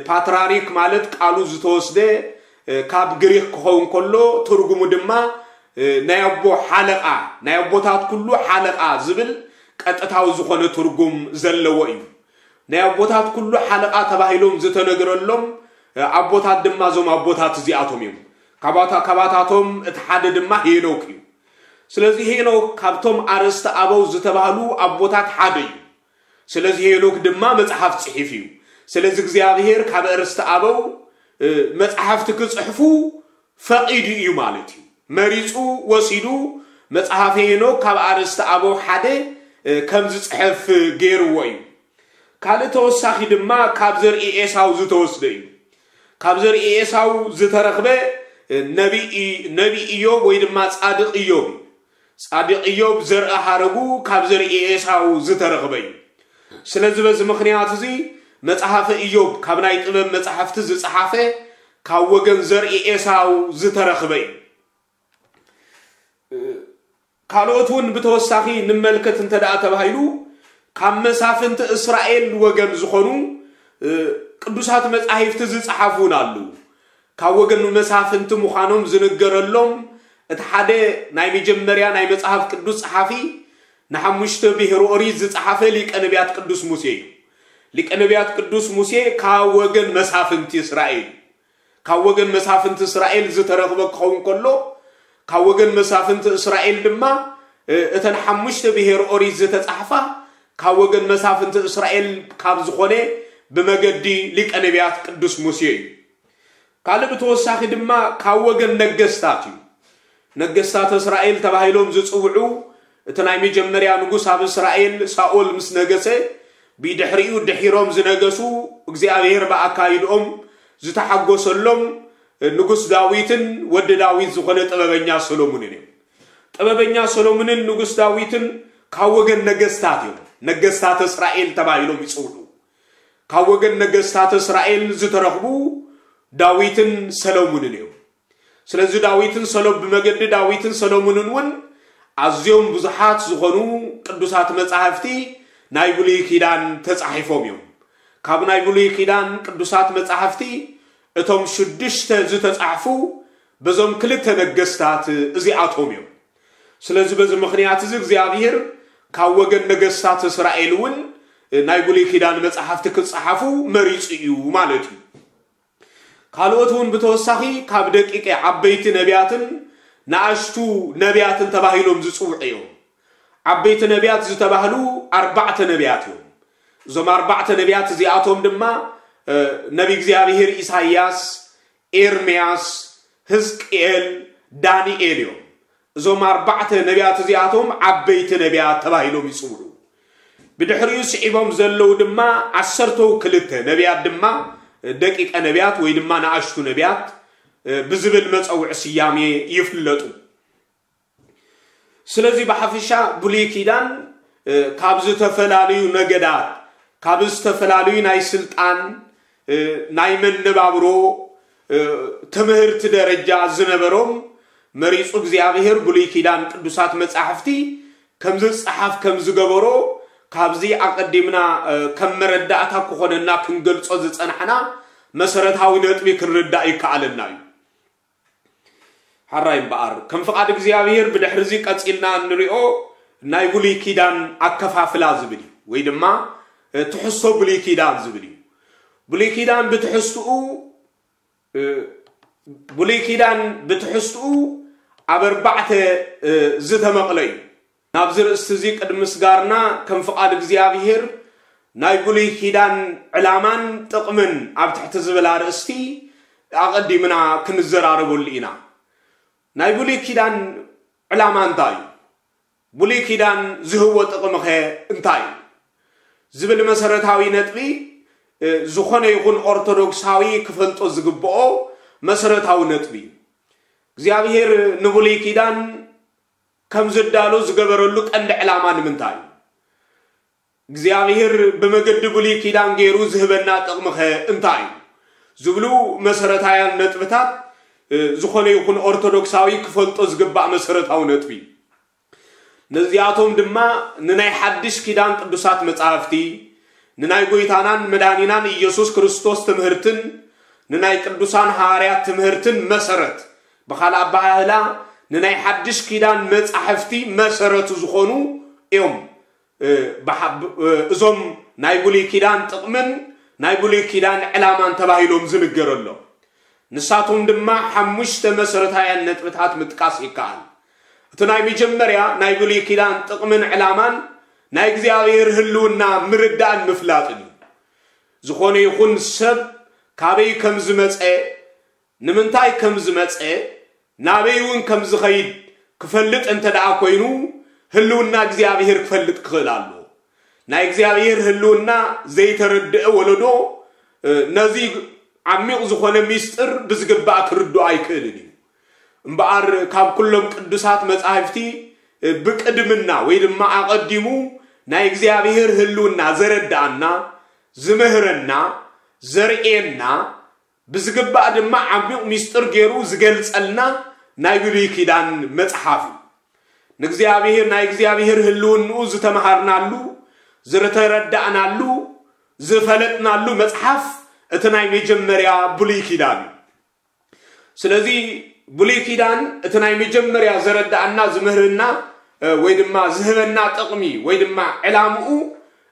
ፓትራሪክ ማለት ቃሉ ዝተወስደ ካብ ግሪክ ክኸውን ከሎ ትርጉሙ ድማ ናይ ኣቦ ሓለቓ ናይ ኣቦታት ኩሉ ሓለቓ ዝብል ቀጥታዊ ዝኾነ ትርጉም ዘለዎ እዩ። ናይ ኣቦታት ኩሉ ሓለቓ ተባሂሎም ዝተነግረሎም ኣቦታት ድማ እዞም ኣቦታት እዚኣቶም እዮም። ካባታቶም እቲ ሓደ ድማ ሄኖክ እዩ። ስለዚ ሄኖክ ካብቶም ኣርእስቲ ኣበው ዝተባህሉ ኣቦታት ሓደ እዩ። ስለዚ ሄኖክ ድማ መጽሓፍ ጽሒፍ እዩ። ስለዚ እግዚኣብሔር ካብ ኣርእስቲ ኣበው መጽሓፍቲ ክጽሕፉ ፈቒዱ እዩ ማለት እዩ። መሪጹ ወሲዱ መጽሓፈ ሄኖክ ካብ ኣርእስቲ ኣበው ሓደ ከም ዝጽሕፍ ገይርዎ እዩ። ካልእ ተወሳኺ ድማ ካብ ዘርኢ ኤሳው ዝተወስደ እዩ። ካብ ዘርኢ ኤሳው ዝተረኽበ ነቢ እዮብ ወይ ድማ ጻድቕ እዮብ እዩ። ጻድቕ እዮብ ዘርኢ ሃረጉ ካብ ዘርኢ ኤሳው ዝተረኽበ እዩ። ስለዚ በዚ ምኽንያት እዚ መጽሓፈ እዮብ ካብ ናይ ጥበብ መጻሕፍቲ ዝጸሓፈ ካብ ወገን ዘርኢ ኤሳው ዝተረኽበ እዩ። ካልኦት እውን ብተወሳኺ ንመልከት እንተ ደኣ ተባሂሉ ካብ መሳፍንቲ እስራኤል ወገን ዝኾኑ ቅዱሳት መጻሕፍቲ ዝጸሓፉ እውን ኣለዉ። ካብ ወገን መሳፍንቲ ምዃኖም ዝንገረሎም እቲ ሓደ ናይ መጀመርያ ናይ መጽሓፍ ቅዱስ ጸሓፊ ንሓሙሽተ ብሄር ኦሪት ዝጸሓፈ ሊቀ ነቢያት ቅዱስ ሙሴ እዩ። ሊቀ ነቢያት ቅዱስ ሙሴ ካብ ወገን መሳፍንቲ እስራኤል ካብ ወገን መሳፍንቲ እስራኤል ዝተረኽበ ክኸውን ከሎ ካብ ወገን መሳፍንቲ እስራኤል ድማ እተን ሓሙሽተ ብሄር ኦሪት ዝተጻሕፋ ካብ ወገን መሳፍንቲ እስራኤል ካብ ዝኾነ ብመገዲ ሊቀ ነቢያት ቅዱስ ሙሴ እዩ። ካልእ ብተወሳኺ ድማ ካብ ወገን ነገስታት እዩ። ነገስታት እስራኤል ተባሂሎም ዝጽውዑ እቲ ናይ መጀመርያ ንጉስ ኣብ እስራኤል ሳኦል ምስ ነገሰ ብድሕሪኡ ድሒሮም ዝነገሱ እግዚኣብሔር ብኣካይድኦም ዝተሓጎሰሎም ንጉስ ዳዊትን ወዲ ዳዊት ዝኾነ ጥበበኛ ሰሎሙንን እዮም። ጥበበኛ ሰሎሙንን ንጉስ ዳዊትን ካብ ወገን ነገስታት እዮም። ነገስታት እስራኤል ተባሂሎም ይጽውዑ። ካብ ወገን ነገስታት እስራኤል ዝተረኽቡ ዳዊትን ሰሎሙንን እዮም። ስለዚ ዳዊትን ሰሎ-፣ ብመገዲ ዳዊትን ሰሎሙንን እውን ኣዝዮም ብዙሓት ዝኾኑ ቅዱሳት መጻሕፍቲ ናይ ብሉይ ኪዳን ተጻሒፎም እዮም። ካብ ናይ ብሉይ ኪዳን ቅዱሳት መጻሕፍቲ እቶም ሽዱሽተ ዝተጻሕፉ በዞም ክልተ ነገስታት እዚኣቶም እዮም። ስለዚ በዚ ምኽንያት እዚ እግዚኣብሔር ካብ ወገን ነገስታት እስራኤል እውን ናይ ብሉይ ኪዳን መጻሕፍቲ ክጸሓፉ መሪጹ እዩ ማለት እዩ። ካልኦት እውን ብተወሳኺ ካብ ደቂቀ ዓበይቲ ነቢያትን ንኣሽቱ ነቢያትን ተባሂሎም ዝጽውዑ እዮም። ዓበይቲ ነቢያት ዝተባህሉ ኣርባዕተ ነቢያት እዮም። እዞም ኣርባዕተ ነቢያት እዚኣቶም ድማ፣ እ፣ ነቢ እግዚኣብሔር ኢሳይያስ፣ ኤርምያስ፣ ህዝቅኤል፣ ዳንኤል እዮም። እዞም ኣርባዕተ ነቢያት እዚኣቶም ዓበይቲ ነቢያት ተባሂሎም ይጽውዑ። ብድሕሪኡ ስዒቦም ዘለዉ ድማ ዓሰርተው ክልተ ነቢያት ድማ ደቂቀ ነቢያት ወይ ድማ ንኣሽቱ ነቢያት፣ እ፣ ብዝብል መጸውዒ ስያሜ ይፍለጡ። ስለዚ ብሓፈሻ ብሉይ ኪዳን፣ እ፣ ካብ ዝተፈላለዩ ነገዳት፣ ካብ ዝተፈላለዩ ናይ ስልጣን፣ እ፣ ናይ መነባብሮ፣ እ፣ ትምህርቲ ደረጃ ዝነበሮም መሪጹ እግዚኣብሔር ብሉይ ኪዳን ቅዱሳት መጻሕፍቲ ከም ዝጸሓፍ ከም ዝገበሮ ካብዚ ኣቐዲምና፣ እ፣ ከም መረዳእታ ክኾነና ክንገልጾ ዝጸናሕና መሰረታዊ ነጥቢ ክንርዳእ ይከኣለና እዩ። ሓራይ እምበኣር ከም ፍቓድ እግዚኣብሔር ብድሕሪ እዚ ቀጺልና እንሪኦ ናይ ብሉይ ኪዳን ኣከፋፍላ ዝብል እዩ፣ ወይ ድማ፣ እ፣ ትሕዝቶ ብሉይ ኪዳን ዝብል እዩ። ብሉይ ኪዳን ብትሕዝትኡ፣ እ፣ ብሉይ ኪዳን ብትሕዝትኡ ኣብ ኣርባዕተ፣ እ፣ ዝተመቕለ እዩ። ናብዚ ርእስቲ እዚ ቅድሚ ምስጋርና ከም ፍቓድ እግዚኣብሔር ናይ ብሉይ ኪዳን ዕላማን ጥቕምን ኣብ ትሕቲ ዝብል ኣርእስቲ ኣቐዲምና ክንዘራረበሉ ኢና። ናይ ብሉይ ኪዳን ዕላማ እንታይ እዩ? ብሉይ ኪዳን ዝህቦ ጥቕሚ ኸ እንታይ እዩ? ዝብል መሰረታዊ ነጥቢ፣ እ፣ ዝኾነ ይኹን ኦርቶዶክሳዊ ክፈልጦ ዝግብኦ መሰረታዊ ነጥቢ እዩ። እግዚኣብሔር ንብሉይ ኪዳን ከም ዝዳሎ ዝገበረሉ ቀንዲ ዕላማ ንምንታይ እዩ? እግዚኣብሔር ብመገዲ ብሉይ ኪዳን ገይሩ ዝህበና ጥቕሚ ኸ እንታይ እዩ? ዝብሉ መሰረታውያን ነጥብታት፣ እ፣ ዝኾነ ይኹን ኦርቶዶክሳዊ ክፈልጦ ዝግባእ መሰረታዊ ነጥቢ እዩ። ነዚኣቶም ድማ ንናይ ሓድሽ ኪዳን ቅዱሳት መጻሕፍቲ፣ ንናይ ጐይታናን መድኃኒናን ኢየሱስ ክርስቶስ ትምህርትን ንናይ ቅዱሳን ሃዋርያት ትምህርትን መሰረት፣ ብኻልእ ኣበሃህላ ንናይ ሓድሽ ኪዳን መጻሕፍቲ መሰረት ዝኾኑ እዮም። እ፣ ብሓ-፣ ብ-፣ እ፣ እዞም ናይ ብሉይ ኪዳን ጥቕምን ናይ ብሉይ ኪዳን ዕላማን ተባሂሎም ዝንገረሎም። ንሳቶም ድማ ሓሙሽተ መሰረታውያን ነጥብታት ምጥቃስ ይከኣል። እቲ ናይ መጀመርያ ናይ ብሉይ ኪዳን ጥቕምን ዕላማን ናይ እግዚኣብሔር ህልውና ምርዳእን ምፍላጥን እዩ። ዝኾነ ይኹን ሰብ ካበይ ከም ዝመጸ፣ ንምንታይ ከም ዝመጸ፣ ናበይ እውን ከም ዝኸይድ ክፈልጥ እንተ ደኣ ኮይኑ፣ ህልውና እግዚኣብሔር ክፈልጥ ክኽእል ኣለዎ። ናይ እግዚኣብሔር ህልውና ዘይተረድአ ወለዶ፣ እ፣ ነዚ ዓሚቕ ዝኾነ ሚስጥር ብዝግባእ ክርድኦ ኣይክእልን እዩ። እምበኣር ካብ ኩሎም ቅዱሳት መጻሕፍቲ፣ እ፣ ብቅድምና ወይ ድማ ኣቐዲሙ ናይ እግዚኣብሔር ህልውና ዘረድኣና፣ ዝምህረና፣ ዘርእየና፣ ብዝግባእ ድማ ዓሚቕ ሚስጥር ገይሩ ዝገልጸልና ናይ ብሉይ ኪዳን መጽሓፍ እዩ። ንእግዚኣብሔር፣ ናይ እግዚኣብሔር ህልውንኡ ዝተምሃርናሉ፣ ዝተረዳእናሉ፣ ዝፈለጥናሉ መጽሓፍ እቲ ናይ መጀመርያ ብሉይ ኪዳን እዩ። ስለዚ ብሉይ ኪዳን እቲ ናይ መጀመርያ ዘረዳኣና፣ ዝምህርና፣ እ፣ ወይ ድማ ዝህበና ጥቕሚ ወይ ድማ ዕላምኡ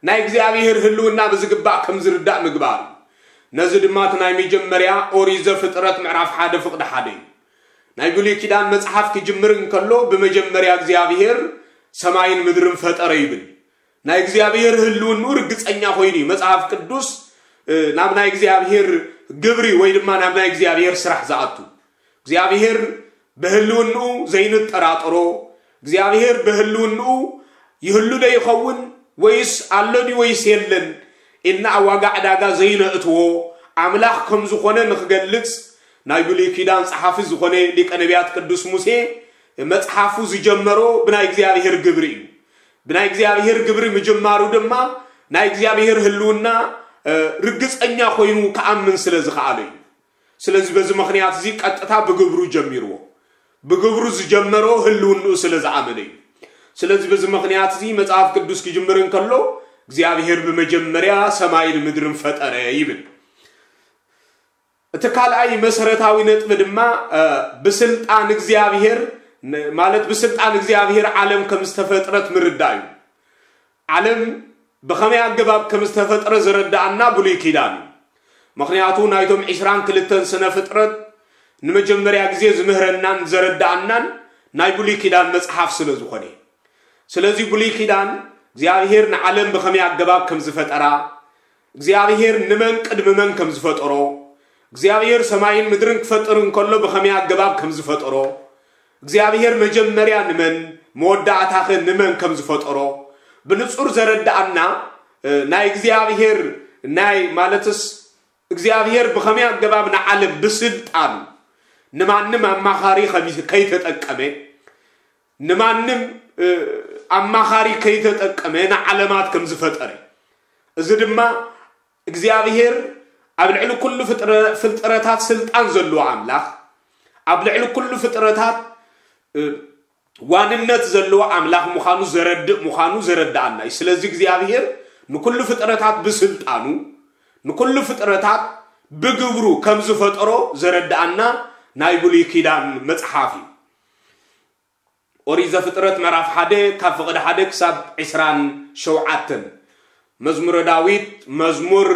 ናይ እግዚኣብሔር ህልውና ብዝግባእ ከም ዝርዳእ ምግባር እዩ። ነዚ ድማ እቲ ናይ መጀመርያ ኦሪት ዘፍጥረት ምዕራፍ ሓደ ፍቕዲ ሓደ እዩ። ናይ ብሉይ ኪዳን መጽሓፍ ክጅምር እንከሎ ብመጀመርያ እግዚኣብሔር ሰማይን ምድርን ፈጠረ ይብል። ናይ እግዚኣብሔር ህልውንኡ ርግጸኛ ኮይኑ እዩ መጽሓፍ ቅዱስ፣ እ፣ ናብ ናይ እግዚኣብሔር ግብሪ ወይ ድማ ናብ ናይ እግዚኣብሔር ስራሕ ዝኣቱ። እግዚኣብሔር ብህልውንኡ ዘይንጠራጠሮ፣ እግዚኣብሔር ብህልውንኡ ይህሉ ዶ ይኸውን ወይስ ኣሎ ድዩ ወይስ የለን ኢልና ኣብ ዋጋ ዕዳጋ ዘይነእትዎ ኣምላኽ ከም ዝኾነ ንኽገልጽ ናይ ብሉይ ኪዳን ጸሓፊ ዝኾነ ሊቀ ነቢያት ቅዱስ ሙሴ መጽሓፉ ዝጀመሮ ብናይ እግዚኣብሔር ግብሪ እዩ። ብናይ እግዚኣብሔር ግብሪ ምጅማሩ ድማ ናይ እግዚኣብሔር ህልውና ርግፀኛ ኮይኑ ክኣምን ስለ ዝኸኣለ እዩ። ስለዚ በዚ ምኽንያት እዚ ቀጥታ ብግብሩ ጀሚርዎ። ብግብሩ ዝጀመሮ ህልውንኡ ስለ ዝኣመነ እዩ። ስለዚ በዚ ምኽንያት እዚ መጽሓፍ ቅዱስ ክጅምር እንከሎ እግዚኣብሔር ብመጀመርያ ሰማይን ምድርን ፈጠረ ይብል። እቲ ካልኣይ መሰረታዊ ነጥቢ ድማ ብስልጣን እግዚኣብሔር ማለት ብስልጣን እግዚኣብሔር ዓለም ከም ዝተፈጥረት ምርዳእ እዩ። ዓለም ብኸመይ ኣገባብ ከም ዝተፈጥረ ዝረዳኣና ብሉይ ኪዳን እዩ። ምኽንያቱ ናይቶም ዕስራን ክልተን ስነ ፍጥረት ንመጀመርያ ግዜ ዝምህረናን ዘረዳኣናን ናይ ብሉይ ኪዳን መጽሓፍ ስለ ዝኾነ። ስለዚ ብሉይ ኪዳን እግዚኣብሔር ንዓለም ብኸመይ ኣገባብ ከም ዝፈጠራ፣ እግዚኣብሔር ንመን ቅድሚ መን ከም ዝፈጠሮ፣ እግዚኣብሔር ሰማይን ምድርን ክፈጥር እንከሎ ብኸመይ ኣገባብ ከም ዝፈጠሮ፣ እግዚኣብሔር መጀመርያ ንመን መወዳእታኸ ንመን ከም ዝፈጠሮ ብንጹር ዘረዳኣና ናይ እግዚኣብሔር ናይ ማለትስ እግዚኣብሔር ብኸመይ ኣገባብ ንዓለም ብስልጣኑ ንማንም ኣማኻሪ ከይተጠቀመ ንማንም ኣማኻሪ ከይተጠቀመ ንዓለማት ከም ዝፈጠረ፣ እዚ ድማ እግዚኣብሔር ኣብ ልዕሊ ኩሉ ፍጥረታት ስልጣን ዘለዎ ኣምላኽ፣ ኣብ ልዕሊ ኩሉ ፍጥረታት ዋንነት ዘለዎ ኣምላኽ ምዃኑ ዘረድእ ምዃኑ ዘረዳኣና እዩ። ስለዚ እግዚኣብሔር ንኩሉ ፍጥረታት ብስልጣኑ ንኩሉ ፍጥረታት ብግብሩ ከም ዝፈጠሮ ዘረዳኣና ናይ ብሉይ ኪዳን መጽሓፍ እዩ። ኦሪት ዘፍጥረት ምዕራፍ ሓደ ካብ ፍቕዲ ሓደ ክሳብ ዕስራን ሸውዓተን፣ መዝሙረ ዳዊት መዝሙር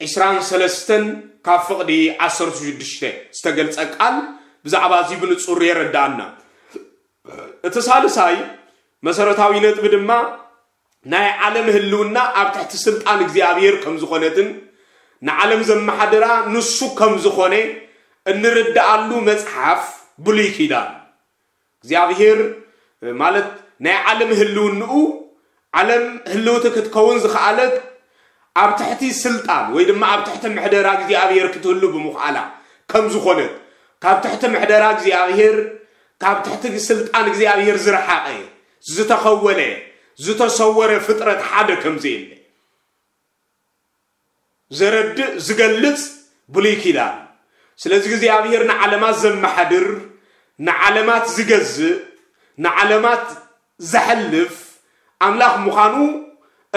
ዕስራን ሰለስተን ካብ ፍቕዲ ዓሰርተ ሽዱሽተ ዝተገልጸ ቃል ብዛዕባ እዚ ብንጹር የረዳኣና። እቲ ሳልሳይ መሰረታዊ ነጥቢ ድማ ናይ ዓለም ህልውና ኣብ ትሕቲ ስልጣን እግዚኣብሔር ከም ዝኾነትን ንዓለም ዘመሓድራ ንሱ ከም ዝኾነ እንርዳኣሉ መጽሓፍ ብሉይ ኪዳን እግዚኣብሔር ማለት ናይ ዓለም ህልውንኡ ዓለም ህልውቲ ክትከውን ዝኸኣለት ኣብ ትሕቲ ስልጣን ወይ ድማ ኣብ ትሕቲ ምሕደራ እግዚኣብሔር ክትህሉ ብምኽኣላ ከም ዝኾነት ካብ ትሕቲ ምሕደራ እግዚኣብሔር ካብ ትሕቲ ስልጣን እግዚኣብሔር ዝረሓቐ ዝተኸወለ ዝተሰወረ ፍጥረት ሓደ ከም ዘየለ ዘረድእ ዝገልጽ ብሉይ ኪዳን። ስለዚ እግዚኣብሔር ንዓለማት ዘመሓድር ንዓለማት ዝገዝእ ንዓለማት ዘሕልፍ ኣምላኽ ምዃኑ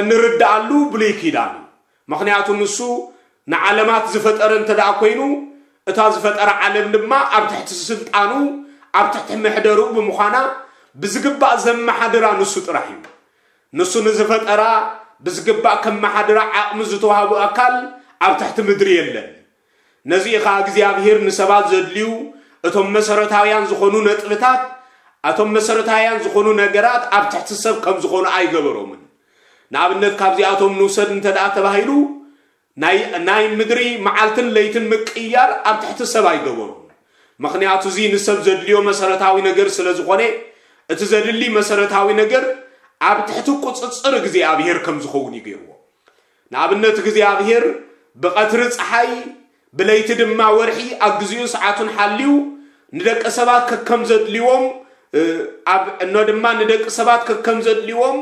እንርዳኣሉ ብሉይ ኪዳን እዩ። ምኽንያቱ ንሱ ንዓለማት ዝፈጠረ እንተ ደኣ ኮይኑ እታ ዝፈጠረ ዓለም ድማ ኣብ ትሕቲ ስልጣኑ ኣብ ትሕቲ ምሕደርኡ ብምዃና ብዝግባእ ዘመሓድራ ንሱ ጥራሕ እዩ። ንሱ ንዝፈጠራ ብዝግባእ ከመሓድራ ዓቕሚ ዝተዋህቡ ኣካል ኣብ ትሕቲ ምድሪ የለን። ነዚ ኸኣ እግዚኣብሔር ንሰባት ዘድልዩ እቶም መሰረታውያን ዝኾኑ ነጥብታት እቶም መሰረታውያን ዝኾኑ ነገራት ኣብ ትሕቲ ሰብ ከም ዝኾኑ ኣይገበሮምን። ንኣብነት ካብዚኣቶም ንውሰድ እንተ ደኣ ተባሂሉ ናይ ምድሪ መዓልትን ለይትን ምቅያር ኣብ ትሕቲ ሰብ ኣይገበሮን። ምኽንያቱ እዚ ንሰብ ዘድልዮ መሰረታዊ ነገር ስለ ዝኾነ እቲ ዘድሊ መሰረታዊ ነገር ኣብ ትሕቲ ቁፅፅር እግዚኣብሔር ከም ዝኸውን እዩ ገይርዎ። ንኣብነት እግዚኣብሔር ብቐትሪ ፀሓይ ብለይቲ ድማ ወርሒ ኣብ ግዚኡ ሰዓቱን ሓልዩ ንደቂ ሰባት ከከም ዘድልዎም ኣብ እኖ ድማ ንደቂ ሰባት ከከም ዘድልዎም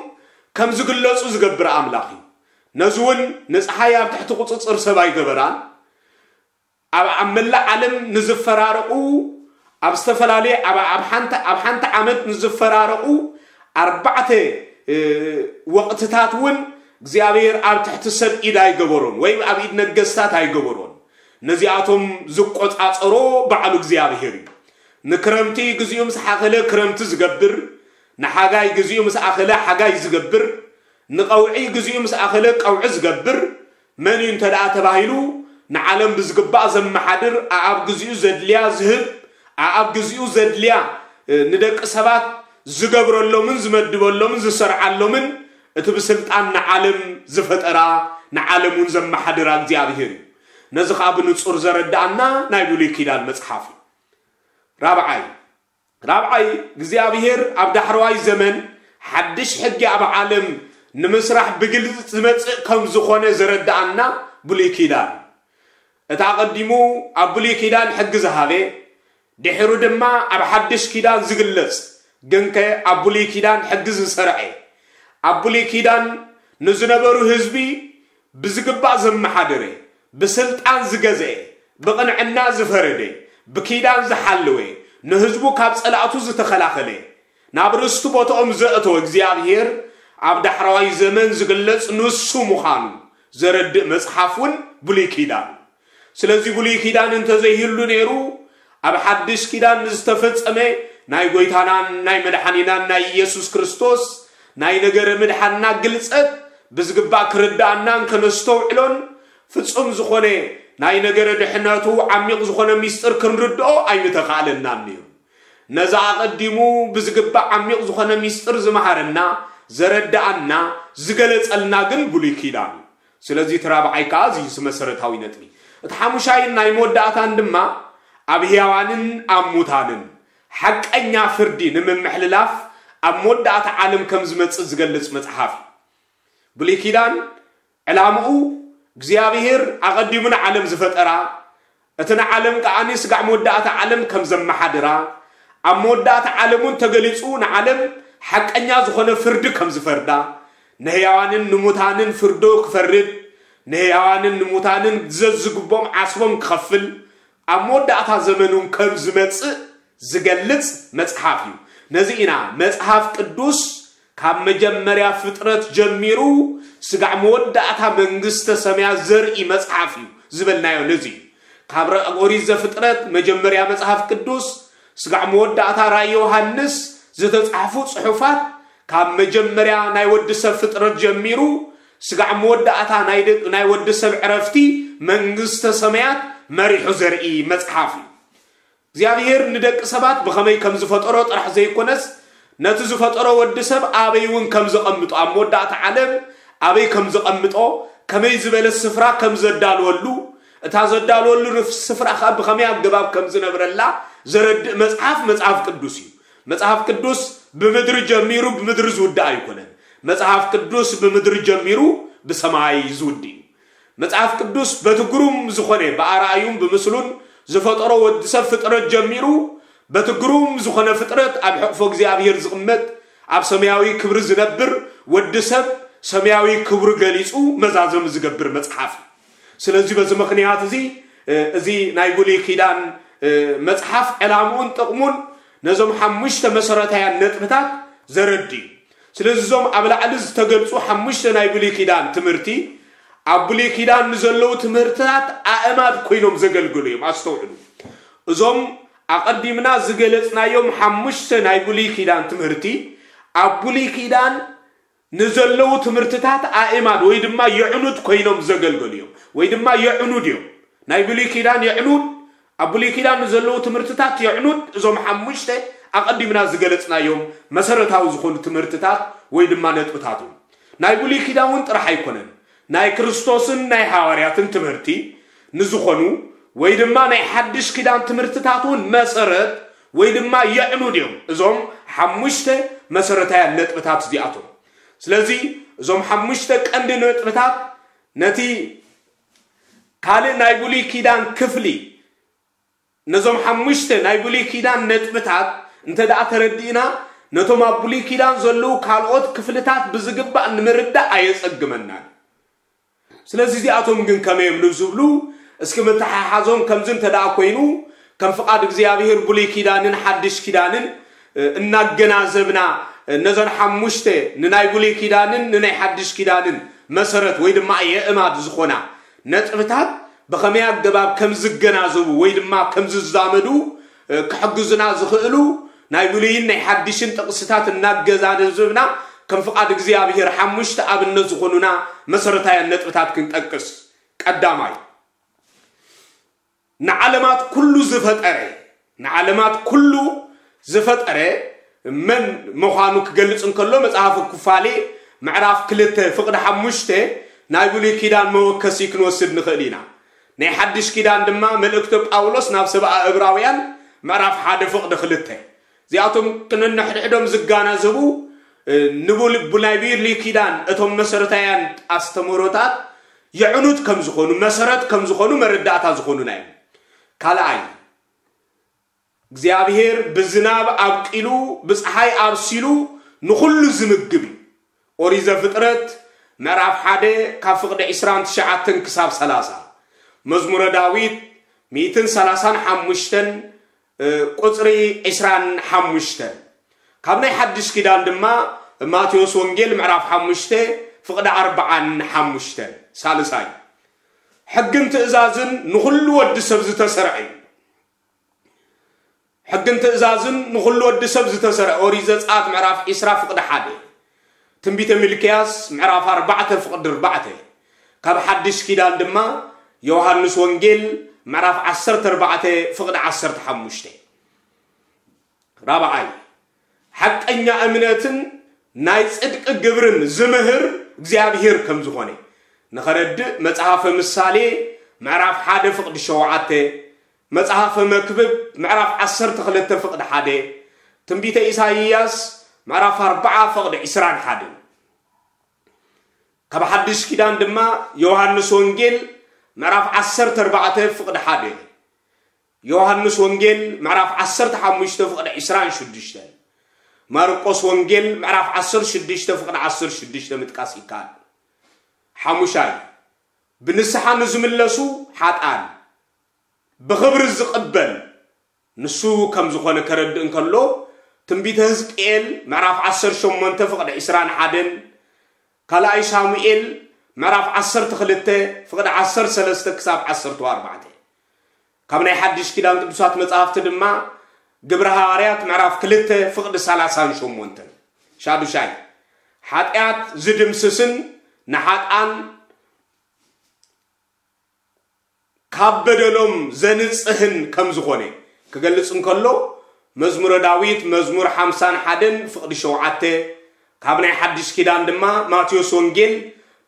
ከም ዝግለፁ ዝገብር ኣምላኽ እዩ። ነዚ እውን ንፀሓይ ኣብ ትሕቲ ቁፅፅር ሰብ ኣይገበራን። ኣብ ኣብ መላእ ዓለም ንዝፈራረቑ ኣብ ዝተፈላለየ ኣብ ኣብ ሓንቲ ኣብ ሓንቲ ዓመት ንዝፈራረቑ ኣርባዕተ ወቕትታት እውን እግዚኣብሔር ኣብ ትሕቲ ሰብ ኢድ ኣይገበሮን ወይ ኣብ ኢድ ነገስታት ኣይገበሮን። ነዚኣቶም ዝቆፃፀሮ ባዕሉ እግዚኣብሔር እዩ። ንክረምቲ ግዚኡ ምስ ሓኸለ ክረምቲ ዝገብር፣ ንሓጋይ ግዚኡ ምስ ኣኸለ ሓጋይ ዝገብር፣ ንቐውዒ ግዚኡ ምስ ኣኸለ ቀውዒ ዝገብር መን እዩ እንተ ደኣ ተባሂሉ ንዓለም ብዝግባእ ዘመሓድር ኣኣብ ግዚኡ ዘድልያ ዝህብ ኣኣብ ግዚኡ ዘድልያ ንደቂ ሰባት ዝገብረሎምን ዝመድበሎምን ዝሰርዓሎምን እቲ ብስልጣን ንዓለም ዝፈጠራ ንዓለም እውን ዘመሓድራ እግዚኣብሔር እዩ። ነዚ ከዓ ብንጹር ዘረድኣና ናይ ብሉይ ኪዳን መጽሓፍ እዩ። ራብዓይ ራብዓይ እግዚኣብሔር ኣብ ዳሕረዋይ ዘመን ሓድሽ ሕጊ ኣብ ዓለም ንምስራሕ ብግልፂ ዝመፅእ ከም ዝኾነ ዘረድኣና ብሉይ ኪዳን እዩ። እቲ ኣቐዲሙ ኣብ ብሉይ ኪዳን ሕጊ ዝሃበ ድሕሩ ድማ ኣብ ሓድሽ ኪዳን ዝግለፅ ግንከ ኣብ ብሉይ ኪዳን ሕጊ ዝሰርዐ ኣብ ብሉይ ኪዳን ንዝነበሩ ህዝቢ ብዝግባእ ዘመሓደረ፣ ብስልጣን ዝገዘአ፣ ብቕንዕና ዝፈረደ፣ ብኪዳን ዝሓለወ፣ ንህዝቡ ካብ ጸላእቱ ዝተኸላኸለ፣ ናብ ርስቲ ቦታኦም ዘእተወ እግዚኣብሔር ኣብ ዳሕረዋይ ዘመን ዝግለጽ ንሱ ምዃኑ ዘረድእ መጽሓፍ እውን ብሉይ ኪዳን። ስለዚ ብሉይ ኪዳን እንተዘይህሉ ነይሩ፣ ኣብ ሓድሽ ኪዳን ንዝተፈጸመ ናይ ጎይታናን ናይ መድሓኒናን ናይ ኢየሱስ ክርስቶስ ናይ ነገረ ምድሓንና ግልጸት ብዝግባእ ክርድኣናን ከነስተውዕሎን ፍጹም ዝኾነ ናይ ነገረ ድሕነቱ ዓሚቕ ዝኾነ ሚስጥር ክንርድኦ ኣይምተኻእለናን ነይሩ። ነዛ ኣቐዲሙ ብዝግባእ ዓሚቕ ዝኾነ ሚስጥር ዝመሃረና፣ ዘረድኣና፣ ዝገለጸልና ግን ብሉይ ኪዳን እዩ። ስለዚ እቲ ራብዓይ ከኣ እዚ መሰረታዊ ነጥቢ። እቲ ሓሙሻይን ናይ መወዳእታን ድማ ኣብ ህያዋንን ኣብ ሙታንን ሓቀኛ ፍርዲ ንምምሕልላፍ ኣብ መወዳእታ ዓለም ከም ዝመጽእ ዝገልጽ መጽሓፍ እዩ። ብሉይ ኪዳን ዕላምኡ እግዚኣብሔር ኣቐዲሙ ንዓለም ዝፈጠራ፣ እቲ ንዓለም ከኣኒ ስጋዕ መወዳእታ ዓለም ከም ዘመሓድራ፣ ኣብ መወዳእታ ዓለም እውን ተገሊጹ ንዓለም ሓቀኛ ዝኾነ ፍርዲ ከም ዝፈርዳ፣ ንህያዋንን ንሙታንን ፍርዶ ክፈርድ፣ ንህያዋንን ንሙታንን ዘዝግቦም ዓስቦም ክኸፍል፣ ኣብ መወዳእታ ዘመን እውን ከም ዝመጽእ ዝገልጽ መጽሓፍ እዩ። ነዚ ኢና መጽሓፍ ቅዱስ ካብ መጀመርያ ፍጥረት ጀሚሩ ስጋዕ መወዳእታ መንግስተ ሰማያት ዘርኢ መጽሓፍ እዩ ዝበልናዮ። ነዚ እዩ ካብ ረ-፣ ኦሪት ዘፍጥረት መጀመርያ መጽሓፍ ቅዱስ ስጋዕ መወዳእታ ራእይ ዮሃንስ ዝተጻሕፉ ጽሑፋት ካብ መጀመርያ ናይ ወዲ ሰብ ፍጥረት ጀሚሩ ስጋዕ መወዳእታ ናይ ደ-፣ ናይ ወዲ ሰብ ዕረፍቲ መንግስተ ሰማያት መሪሑ ዘርኢ መጽሓፍ እዩ። እግዚኣብሔር ንደቂ ሰባት ብኸመይ ከም ዝፈጠሮ ጥራሕ ዘይኮነስ፣ ነቲ ዝፈጠሮ ወዲ ሰብ ኣበይ እውን ከም ዘቐምጦ፣ ኣብ መወዳእታ ዓለም ኣበይ ከም ዘቐምጦ፣ ከመይ ዝበለ ስፍራ ከም ዘዳልወሉ፣ እታ ዘዳልወሉ ንፍ-፣ ስፍራ ኸኣ ብኸመይ ኣገባብ ከም ዝነብረላ ዘረድእ መጽሓፍ መጽሓፍ ቅዱስ እዩ። መጽሓፍ ቅዱስ ብምድሪ ጀሚሩ ብምድሪ ዝውዳእ ኣይኮነን። መጽሓፍ ቅዱስ ብምድሪ ጀሚሩ ብሰማይ ዝውድእ እዩ። መጽሓፍ ቅዱስ በቲ ግሩም ዝኾነ ብኣርኣዩን ብምስሉን ዝፈጠሮ ወዲ ሰብ ፍጥረት ጀሚሩ በቲ ግሩም ዝኾነ ፍጥረት ኣብ ሕቕፎ እግዚኣብሔር ዝቕመጥ ኣብ ሰማያዊ ክብሪ ዝነብር ወዲ ሰብ ሰማያዊ ክብሩ ገሊጹ መዛዘሚ ዝገብር መጽሓፍ እዩ። ስለዚ በዚ ምኽንያት እዚ፣ እ፣ እዚ ናይ ብሉይ ኪዳን፣ እ፣ መጽሓፍ ዕላምኡን ጥቕሙን ነዞም ሓሙሽተ መሰረታውያን ነጥብታት ዘረድእ እዩ። ስለዚ እዞም ኣብ ላዕሊ ዝተገልጹ ሓሙሽተ ናይ ብሉይ ኪዳን ትምህርቲ ኣብ ብሉይ ኪዳን ንዘለዉ ትምህርትታት ኣእማድ ኮይኖም ዘገልግሉ እዮም። ኣስተውዕሉ። እዞም ኣቐዲምና ዝገለጽናዮም ሓሙሽተ ናይ ብሉይ ኪዳን ትምህርቲ ኣብ ብሉይ ኪዳን ንዘለዉ ትምህርትታት ኣእማድ ወይ ድማ የዕኑድ ኮይኖም ዘገልገሉ እዮም፣ ወይ ድማ የዕኑድ እዮም። ናይ ብሉይ ኪዳን የዕኑድ፣ ኣብ ብሉይ ኪዳን ንዘለዉ ትምህርትታት የዕኑድ እዞም ሓሙሽተ ኣቐዲምና ዝገለጽናዮም መሰረታዊ ዝኾኑ ትምህርትታት ወይ ድማ ነጥብታት እዮም። ናይ ብሉይ ኪዳን እውን ጥራሕ ኣይኮነን፣ ናይ ክርስቶስን ናይ ሃዋርያትን ትምህርቲ ንዝኾኑ ወይ ድማ ናይ ሓድሽ ኪዳን ትምህርትታት እውን መሰረት ወይ ድማ የዕኑድ እዮም እዞም ሓሙሽተ መሰረታውያን ነጥብታት እዚኣቶም። ስለዚ እዞም ሓሙሽተ ቀንዲ ነጥብታት ነቲ ካልእ ናይ ብሉይ ኪዳን ክፍሊ፣ ነዞም ሓሙሽተ ናይ ብሉይ ኪዳን ነጥብታት እንተ ደኣ ተረዲእና፣ ነቶም ኣብ ብሉይ ኪዳን ዘለዉ ካልኦት ክፍልታት ብዝግባእ ንምርዳእ ኣየጸግመናን። ስለዚ እዚኣቶም ግን ከመይ እዮም ንዝብሉ፣ እስኪ ምትሓሓዞም ከምዚ እንተ ደኣ ኮይኑ፣ ከም ፍቓድ እግዚኣብሔር ብሉይ ኪዳንን ሓድሽ ኪዳንን፣ እ፣ እናገናዘብና፣ እ፣ ነዘን ሓሙሽተ ንናይ ብሉይ ኪዳንን ንናይ ሓድሽ ኪዳንን መሰረት ወይ ድማ የእማድ ዝኾና ነጥብታት ብኸመይ ኣገባብ ከም ዝገናዘቡ ወይ ድማ ከም ዝዛመዱ፣ እ፣ ክሕግዙና ዝኽእሉ ናይ ብሉይን ናይ ሓድሽን ጥቕስታት እናገዛዘብና ከም ፍቓድ እግዚኣብሔር ሓሙሽተ ኣብነት ዝኾኑና መሰረታውያን ነጥብታት ክንጠቅስ። ቀዳማይ፣ ንዓለማት ኩሉ ዝፈጠረ፣ ንዓለማት ኩሉ ዝፈጠረ መን ምዃኑ ክገልጽ እንከሎ መጽሓፍ ኩፋሌ ምዕራፍ ክልተ ፍቕዲ ሓሙሽተ ናይ ብሉይ ኪዳን መወከሲ ክንወስድ ንኽእል ኢና። ናይ ሓድሽ ኪዳን ድማ መልእክቲ ጳውሎስ ናብ ሰብኣ እብራውያን ምዕራፍ ሓደ ፍቕዲ ክልተ። እዚኣቶም ክንንሕድሕዶም ዝጋናዘቡ፣ እ፣ ንቡል-፣ ቡ-፣ ናይ ብሉይ ኪዳን እቶም መሰረታውያን ኣስተምህሮታት የዕኑድ ከም ዝኾኑ፣ መሰረት ከም ዝኾኑ መረዳእታ ዝኾኑና እዮም። ካልኣይ፣ እግዚኣብሔር ብዝናብ ኣብቂሉ፣ ብፀሓይ ኣብሲሉ ንኹሉ ዝምግብ እዩ። ኦሪት ዘፍጥረት ምዕራፍ ሓደ ካብ ፍቕዲ ዕስራን ትሽዓተን ክሳብ ሰላሳ። መዝሙረ ዳዊት ሚእትን ሰላሳን ሓሙሽተን፣ እ፣ ቁጽሪ ዕስራን ሓሙሽተን። ካብ ናይ ሓድሽ ኪዳን ድማ ማቴዎስ ወንጌል ምዕራፍ ሓሙሽተ ፍቕዲ ኣርብዓን ሓሙሽተን። ሳልሳይ፣ ሕግን ትእዛዝን ንኹሉ ወዲ ሰብ ዝተሰርዐ እዩ። ሕግን ትእዛዝን ንኹሉ ወዲ ሰብ ዝተሰርዐ። ኦሪት ዘጸኣት ምዕራፍ ዕስራ ፍቕዲ ሓደ። ትንቢተ ሚልክያስ ምዕራፍ ኣርባዕተ ፍቕዲ ኣርባዕተ። ካብ ሓድሽ ኪዳን ድማ ዮሃንስ ወንጌል ምዕራፍ ዓሰርተ ኣርባዕተ ፍቕዲ ዓሰርተ ሓሙሽተ። ራብዓይ፣ ሓቀኛ እምነትን ናይ ጽድቂ ግብርን ዝምህር እግዚኣብሔር ከም ዝኾነ ንኸረድእ መጽሓፈ ምሳሌ ምዕራፍ ሓደ ፍቕዲ ሸውዓተ፣ መጽሓፈ መክብብ ምዕራፍ ዓሰርተ ክልተ ፍቕዲ ሓደ፣ ትንቢተ ኢሳይያስ ምዕራፍ ኣርብዓ ፍቕዲ ዕስራን ሓደን። ካብ ሓድሽ ኪዳን ድማ ዮሃንስ ወንጌል ምዕራፍ ዓሰርተ ኣርባዕተ ፍቕዲ ሓደ፣ ዮሃንስ ወንጌል ምዕራፍ ዓሰርተ ሓሙሽተ ፍቕዲ ዕስራን ሽዱሽተን፣ ማርቆስ ወንጌል ምዕራፍ ዓሰርተ ሽዱሽተ ፍቕዲ ዓሰርተ ሽዱሽተ ምጥቃስ ይከኣል። ሓሙሻይ፣ ብንስሓ ንዝምለሱ ሓጣን ብኽብሪ ዝቕበል ንሱ ከም ዝኾነ ከረድእ እንከሎ፣ ትንቢተ ህዝቅኤል ምዕራፍ ዓሰርተ ሸሞንተ ፍቕዲ ዕስራን ሓደን፣ ካልኣይ ሳሙኤል ምዕራፍ ዓሰርተ ክልተ ፍቕዲ ዓሰርተ ሰለስተ ክሳብ ዓሰርተ ኣርባዕተ። ካብ ናይ ሓድሽ ኪዳን ቅዱሳት መጻሕፍቲ ድማ ግብረ ሃዋርያት ምዕራፍ ክልተ ፍቕዲ ሰላሳን ሸሞንተን። ሻዱሻይ፣ ሓጢኣት ዝድምስስን ንሓጣን ካብ በደሎም ዘንጽህን ከም ዝኾነ ክገልጽ እንከሎ፣ መዝሙረ ዳዊት መዝሙር ሓምሳን ሓደን ፍቕዲ ሸውዓተ፣ ካብ ናይ ሓድሽ ኪዳን ድማ ማቴዎስ ወንጌል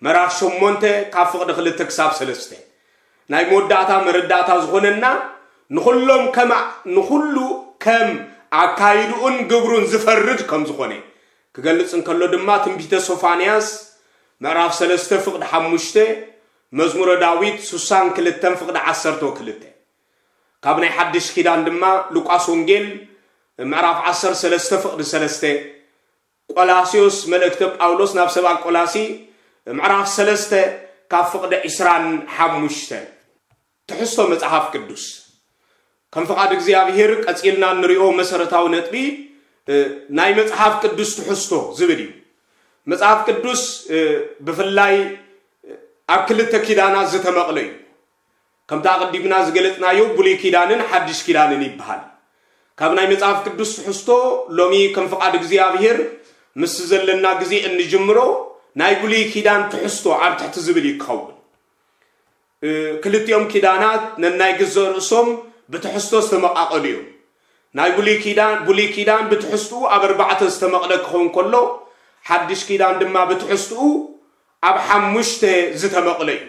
ምዕራፍ ሸሞንተ ካብ ፍቕዲ ክልተ ክሳብ ሰለስተ። ናይ መወዳእታ መረዳእታ ዝኾነና ንኹሎም ከም፣ ንኹሉ ከም ኣካይድኡን ግብሩን ዝፈርድ ከም ዝኾነ ክገልጽ እንከሎ ድማ ትንቢተ ሶፋንያስ ምዕራፍ ሰለስተ ፍቕዲ ሓሙሽተ፣ መዝሙረ ዳዊት ስሳን ክልተን ፍቕዲ ዓሰርተ ክልተ። ካብ ናይ ሓድሽ ኪዳን ድማ ሉቃስ ወንጌል ምዕራፍ ዓሰርተ ሰለስተ ፍቕዲ ሰለስተ፣ ቆላስዮስ፣ መልእክተ ጳውሎስ ናብ ሰብኣ ቆላሲ ምዕራፍ ሰለስተ ካብ ፍቕዲ ዕስራን ሓሙሽተን። ትሕዝቶ መጽሓፍ ቅዱስ። ከም ፍቓድ እግዚኣብሔር ቀጺልና እንሪኦ መሰረታዊ ነጥቢ፣ እ፣ ናይ መጽሓፍ ቅዱስ ትሕዝቶ ዝብል እዩ። መጽሓፍ ቅዱስ፣ እ፣ ብፍላይ፣ እ፣ ኣብ ክልተ ኪዳናት ዝተመቕለ እዩ። ከምቲ ኣቐዲምና ዝገለጽናዮ ብሉይ ኪዳንን ሓድሽ ኪዳንን ይበሃል። ካብ ናይ መጽሓፍ ቅዱስ ትሕዝቶ ሎሚ ከም ፍቓድ እግዚኣብሔር ምስ ዘለና ግዜ እንጅምሮ ናይ ብሉይ ኪዳን ትሕዝቶ ኣብ ትሕቲ ዝብል እዩ ክኸውን። እ፣ ክልቲኦም ኪዳናት ነናይ ገዛእ ርእሶም ብትሕዝቶ ዝተመቓቐሉ እዮም። ናይ ብሉይ ኪዳን፣ ብሉይ ኪዳን ብትሕዝትኡ ኣብ ኣርባዕተ ዝተመቕለ ክኸውን ከሎ፣ ሓድሽ ኪዳን ድማ ብትሕዝትኡ ኣብ ሓሙሽተ ዝተመቕለ እዩ።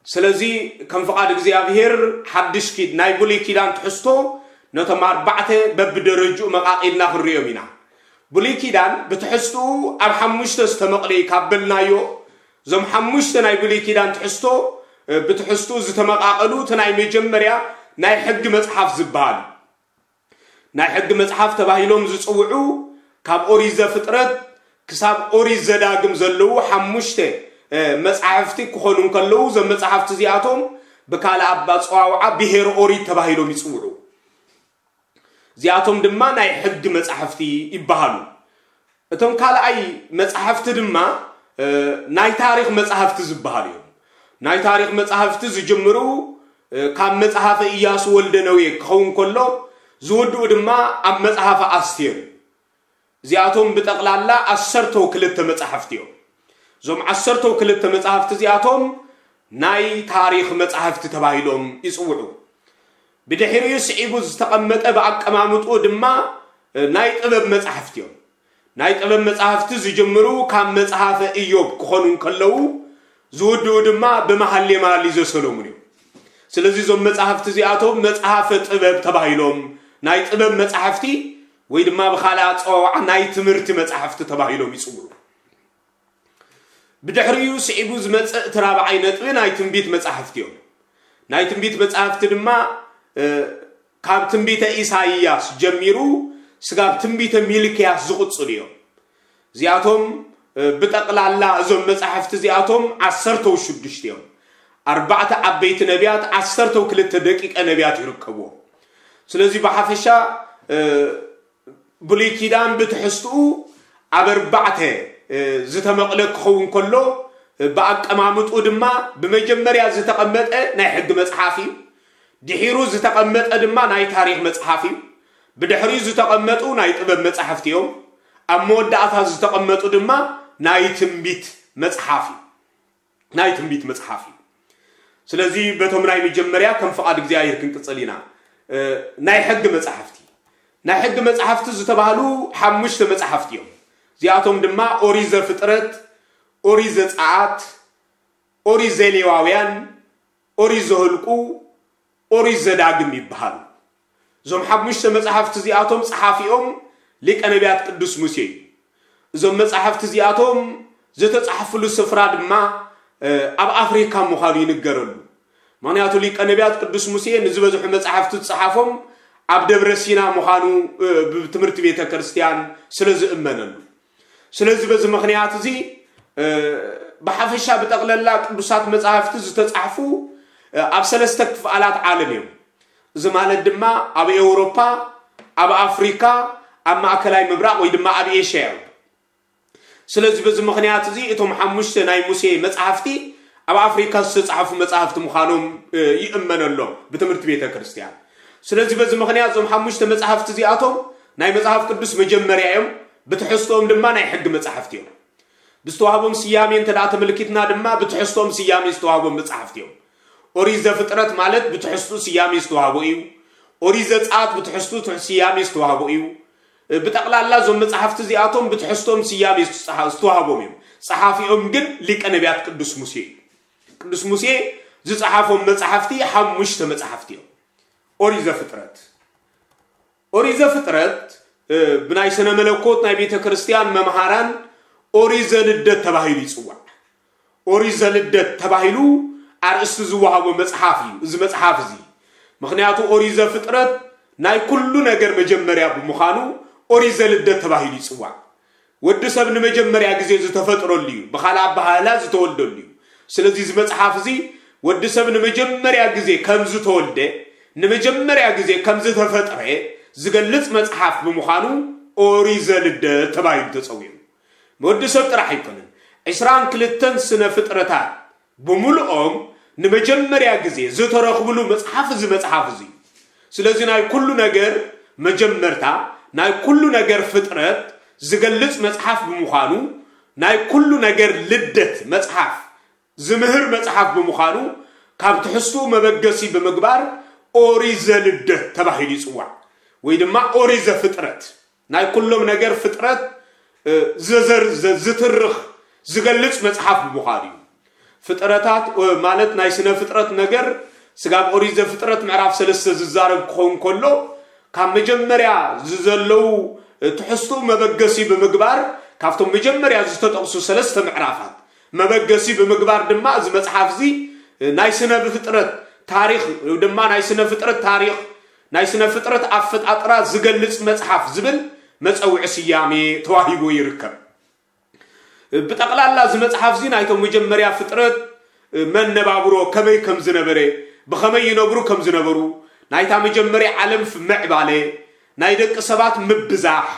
ስለዚ ከም ፍቓድ እግዚኣብሔር ሓድሽ ኪድ-፣ ናይ ብሉይ ኪዳን ትሕዝቶ ነቶም ኣርባዕተ በብደረጅኡ መቓቒልና ክንሪኦም ኢና። ብሉይ ኪዳን ብትሕዝትኡ ኣብ ሓሙሽተ ዝተመቕለ እዩ ካብ በልናዮ፣ እዞም ሓሙሽተ ናይ ብሉይ ኪዳን ትሕዝቶ፣ እ፣ ብትሕዝትኡ ዝተመቓቐሉ እቲ ናይ መጀመርያ ናይ ሕጊ መጽሓፍ ዝበሃል እዩ። ናይ ሕጊ መጽሓፍ ተባሂሎም ዝጽውዑ ካብ ኦሪት ዘፍጥረት ክሳብ ኦሪት ዘዳግም ዘለዉ ሓሙሽተ፣ እ፣ መጻሕፍቲ ክኾኑ እንከለዉ፣ እዞም መጻሕፍቲ እዚኣቶም ብካልእ ኣባ-፣ ኣጸዋውዓ ብሄር ኦሪት ተባሂሎም ይጽውዑ። እዚኣቶም ድማ ናይ ሕጊ መጻሕፍቲ ይበሃሉ። እቶም ካልኣይ መጻሕፍቲ ድማ፣ እ፣ ናይ ታሪኽ መጻሕፍቲ ዝበሃሉ እዮም። ናይ ታሪኽ መጻሕፍቲ ዝጅምሩ፣ እ፣ ካብ መጽሓፈ ኢያሱ ወልደ ነዌ ክኸውን ከሎ፣ ዝውድኡ ድማ ኣብ መጽሓፈ ኣስቴር እዩ። እዚኣቶም ብጠቕላላ ዓሰርተው ክልተ መጻሕፍቲ እዮም። እዞም ዓሰርተው ክልተ መጻሕፍቲ እዚኣቶም ናይ ታሪኽ መጻሕፍቲ ተባሂሎም ይጽውዑ። ብድሕሪኡ ስዒቡ ዝተቐመጠ ብኣቀማምጥኡ ድማ፣ እ፣ ናይ ጥበብ መጻሕፍቲ እዮም። ናይ ጥበብ መጻሕፍቲ ዝጅምሩ ካብ መጽሓፈ ኢዮብ ክኾኑ እንከለዉ፣ ዝውድኡ ድማ ብመሃሌ መሃሊ ዘሰሎሙን እዮም። ስለዚ እዞም መጻሕፍቲ እዚኣቶም መጽሓፈ ጥበብ ተባሂሎም፣ ናይ ጥበብ መጻሕፍቲ ወይ ድማ ብኻልእ ኣጸዋውዓ ናይ ትምህርቲ መጻሕፍቲ ተባሂሎም ይጽውዑ። ብድሕሪኡ ስዒቡ ዝመጽእ እቲ ራብዓይ ነጥቢ ናይ ትንቢት መጻሕፍቲ እዮም። ናይ ትንቢት መጻሕፍቲ ድማ፣ እ፣ ካብ ትንቢተ ኢሳይያስ ጀሚሩ ስጋብ ትንቢተ ሚልክያስ ዝቕጽሉ እዮም። እዚኣቶም ብጠቕላላ እዞም መጻሕፍቲ እዚኣቶም ዓሰርተው ሽዱሽተ እዮም። ኣርባዕተ ዓበይቲ ነቢያት፣ ዓሰርተው ክልተ ደቂቀ ነቢያት ይርከብዎም። ስለዚ ብሓፈሻ ብሉይ ኪዳን ብትሕዝትኡ ኣብ ኣርባዕተ ዝተመቕለ ክኸውን ከሎ፣ ብኣቀማምጥኡ ድማ ብመጀመርያ ዝተቐመጠ ናይ ሕጊ መጽሓፍ እዩ። ድሒሩ ዝተቐመጠ ድማ ናይ ታሪኽ መጽሓፍ እዩ። ብድሕሪኡ ዝተቐመጡ ናይ ጥበብ መጻሕፍቲ እዮም። ኣብ መወዳእታ ዝተቐመጡ ድማ ናይ ትንቢት መጽሓፍ እዩ። ናይ ትንቢት መጽሓፍ እዩ። ስለዚ በቶም ናይ መጀመርያ ከም ፍቓድ እግዚኣብሔር ክንቅጽል ኢና። ናይ ሕጊ መጻሕፍቲ፣ ናይ ሕጊ መጻሕፍቲ ዝተባህሉ ሓሙሽተ መጻሕፍቲ እዮም። እዚኣቶም ድማ ኦሪት ዘፍጥረት፣ ኦሪት ዘጸኣት፣ ኦሪት ዘሌዋውያን፣ ኦሪት ዘኍልቁ፣ ኦሪት ዘዳግም ይበሃሉ። እዞም ሓሙሽተ መጻሕፍቲ እዚኣቶም ጸሓፊኦም ሊቀ ነቢያት ቅዱስ ሙሴ እዩ። እዞም መጻሕፍቲ እዚኣቶም ዝተጻሕፍሉ ስፍራ ድማ ኣብ ኣፍሪካ ምዃኑ ይንገረሉ። ምኽንያቱ ሊቀ ነቢያት ቅዱስ ሙሴ ንዝበዝሑ መጻሕፍቲ ዝጸሓፎም ኣብ ደብረ ሲና ምዃኑ ብትምህርቲ ቤተ ክርስቲያን ስለ ዝእመነሉ፣ ስለዚ በዚ ምኽንያት እዚ ብሓፈሻ ብጠቕለላ ቅዱሳት መጻሕፍቲ ዝተጻሕፉ ኣብ ሰለስተ ክፍኣላት ዓለም እዮም። እዚ ማለት ድማ ኣብ ኤውሮፓ፣ ኣብ ኣፍሪካ፣ ኣብ ማእከላይ ምብራቕ ወይ ድማ ኣብ ኤሽያ እዮም። ስለዚ በዚ ምኽንያት እዚ እቶም ሓሙሽተ ናይ ሙሴ መጻሕፍቲ ኣብ ኣፍሪካ ዝተጻሕፉ መጻሕፍቲ ምዃኖም ይእመነሎም ብትምህርቲ ቤተ ክርስቲያን። ስለዚ በዚ ምኽንያት እዞም ሓሙሽተ መጻሕፍቲ እዚኣቶም ናይ መጽሓፍ ቅዱስ መጀመርያ እዮም። ብትሕዝትኦም ድማ ናይ ሕጊ መጻሕፍቲ እዮም። ብዝተዋህቦም ስያሜ እንተ ደኣ ተመልኪትና ድማ ብትሕዝትኦም ስያሜ ዝተዋህቦም መጻሕፍቲ እዮም። ኦሪት ዘፍጥረት ማለት ብትሕዝቱ ስያሜ ዝተዋህቦ እዩ። ኦሪት ዘጸኣት ብትሕዝቱ ትሕ- ስያሜ ዝተዋህቦ እዩ። ብጠቕላላ እዞም መጻሕፍቲ እዚኣቶም ብትሕዝቶም ስያሜ ዝተጻሓ- ዝተዋህቦም እዮም። ጸሓፊኦም ግን ሊቀ ነቢያት ቅዱስ ሙሴ እዩ። ቅዱስ ሙሴ ዝጸሓፎም መጻሕፍቲ ሓሙሽተ መጻሕፍቲ እዮም። ኦሪት ዘፍጥረት፣ ኦሪት ዘፍጥረት ብናይ ስነ መለኮት ናይ ቤተ ክርስቲያን መምሃራን ኦሪት ዘልደት ተባሂሉ ይጽዋዕ። ኦሪት ዘልደት ተባሂሉ ኣርእስቲ ዝወሃቦ መጽሓፍ እዩ እዚ መጽሓፍ እዚ። ምኽንያቱ ኦሪት ዘፍጥረት ናይ ኩሉ ነገር መጀመርያ ብምዃኑ ኦሪት ዘልደት ተባሂሉ ይጽዋዕ። ወዲ ሰብ ንመጀመርያ ግዜ ዝተፈጥረሉ እዩ፣ ብኻልእ ኣበሃህላ ዝተወልደሉ እዩ። ስለዚ እዚ መጽሓፍ እዚ ወዲ ሰብ ንመጀመርያ ግዜ ከም ዝተወልደ፣ ንመጀመርያ ግዜ ከም ዝተፈጥረ ዝገልጽ መጽሓፍ ብምዃኑ ኦሪት ዘልደት ተባሂሉ ተጸዊዑ። ወዲ ሰብ ጥራሕ ኣይኮነን፣ ዕስራን ክልተን ስነ ፍጥረታት ብምልኦም ንመጀመርያ ግዜ ዝተረኽብሉ መጽሓፍ እዚ መጽሓፍ እዚ እዩ። ስለዚ ናይ ኩሉ ነገር መጀመርታ፣ ናይ ኩሉ ነገር ፍጥረት ዝገልጽ መጽሓፍ ብምዃኑ፣ ናይ ኩሉ ነገር ልደት መጽሓፍ ዝምህር መጽሓፍ ብምዃኑ፣ ካብ ትሕዝትኡ መበገሲ ብምግባር ኦሪት ዘልደት ተባሂሉ ይጽዋዕ፣ ወይ ድማ ኦሪት ዘፍጥረት። ናይ ኩሎም ነገር ፍጥረት ዝዘር ዝትርኽ ዝገልጽ መጽሓፍ ብምዃኑ እዩ። ፍጥረታት ማለት ናይ ስነ ፍጥረት ነገር ስጋብ ኦሪት ዘፍጥረት ምዕራፍ ሰለስተ ዝዛረብ ክኸውን ከሎ፣ ካብ መጀመርያ ዝዘለዉ ትሕዝትኡ መበገሲ ብምግባር፣ ካብቶም መጀመርያ ዝተጠቕሱ ሰለስተ ምዕራፋት መበገሲ ብምግባር ድማ እዚ መጽሓፍ እዚ ናይ ስነ ፍጥረት ታሪኽ ድማ ናይ ስነ ፍጥረት ታሪኽ ናይ ስነ ፍጥረት ኣፈጣጥራ ዝገልጽ መጽሓፍ ዝብል መጸውዒ ስያሜ ተዋሂቡ ይርከብ። ብጠቕላላ እዚ መጽሓፍ እዚ ናይቶም መጀመርያ ፍጥረት መነባብሮ ከመይ ከም ዝነበረ፣ ብኸመይ ይነብሩ ከም ዝነበሩ፣ ናይታ መጀመርያ ዓለም ምዕባለ፣ ናይ ደቂ ሰባት ምብዛሕ፣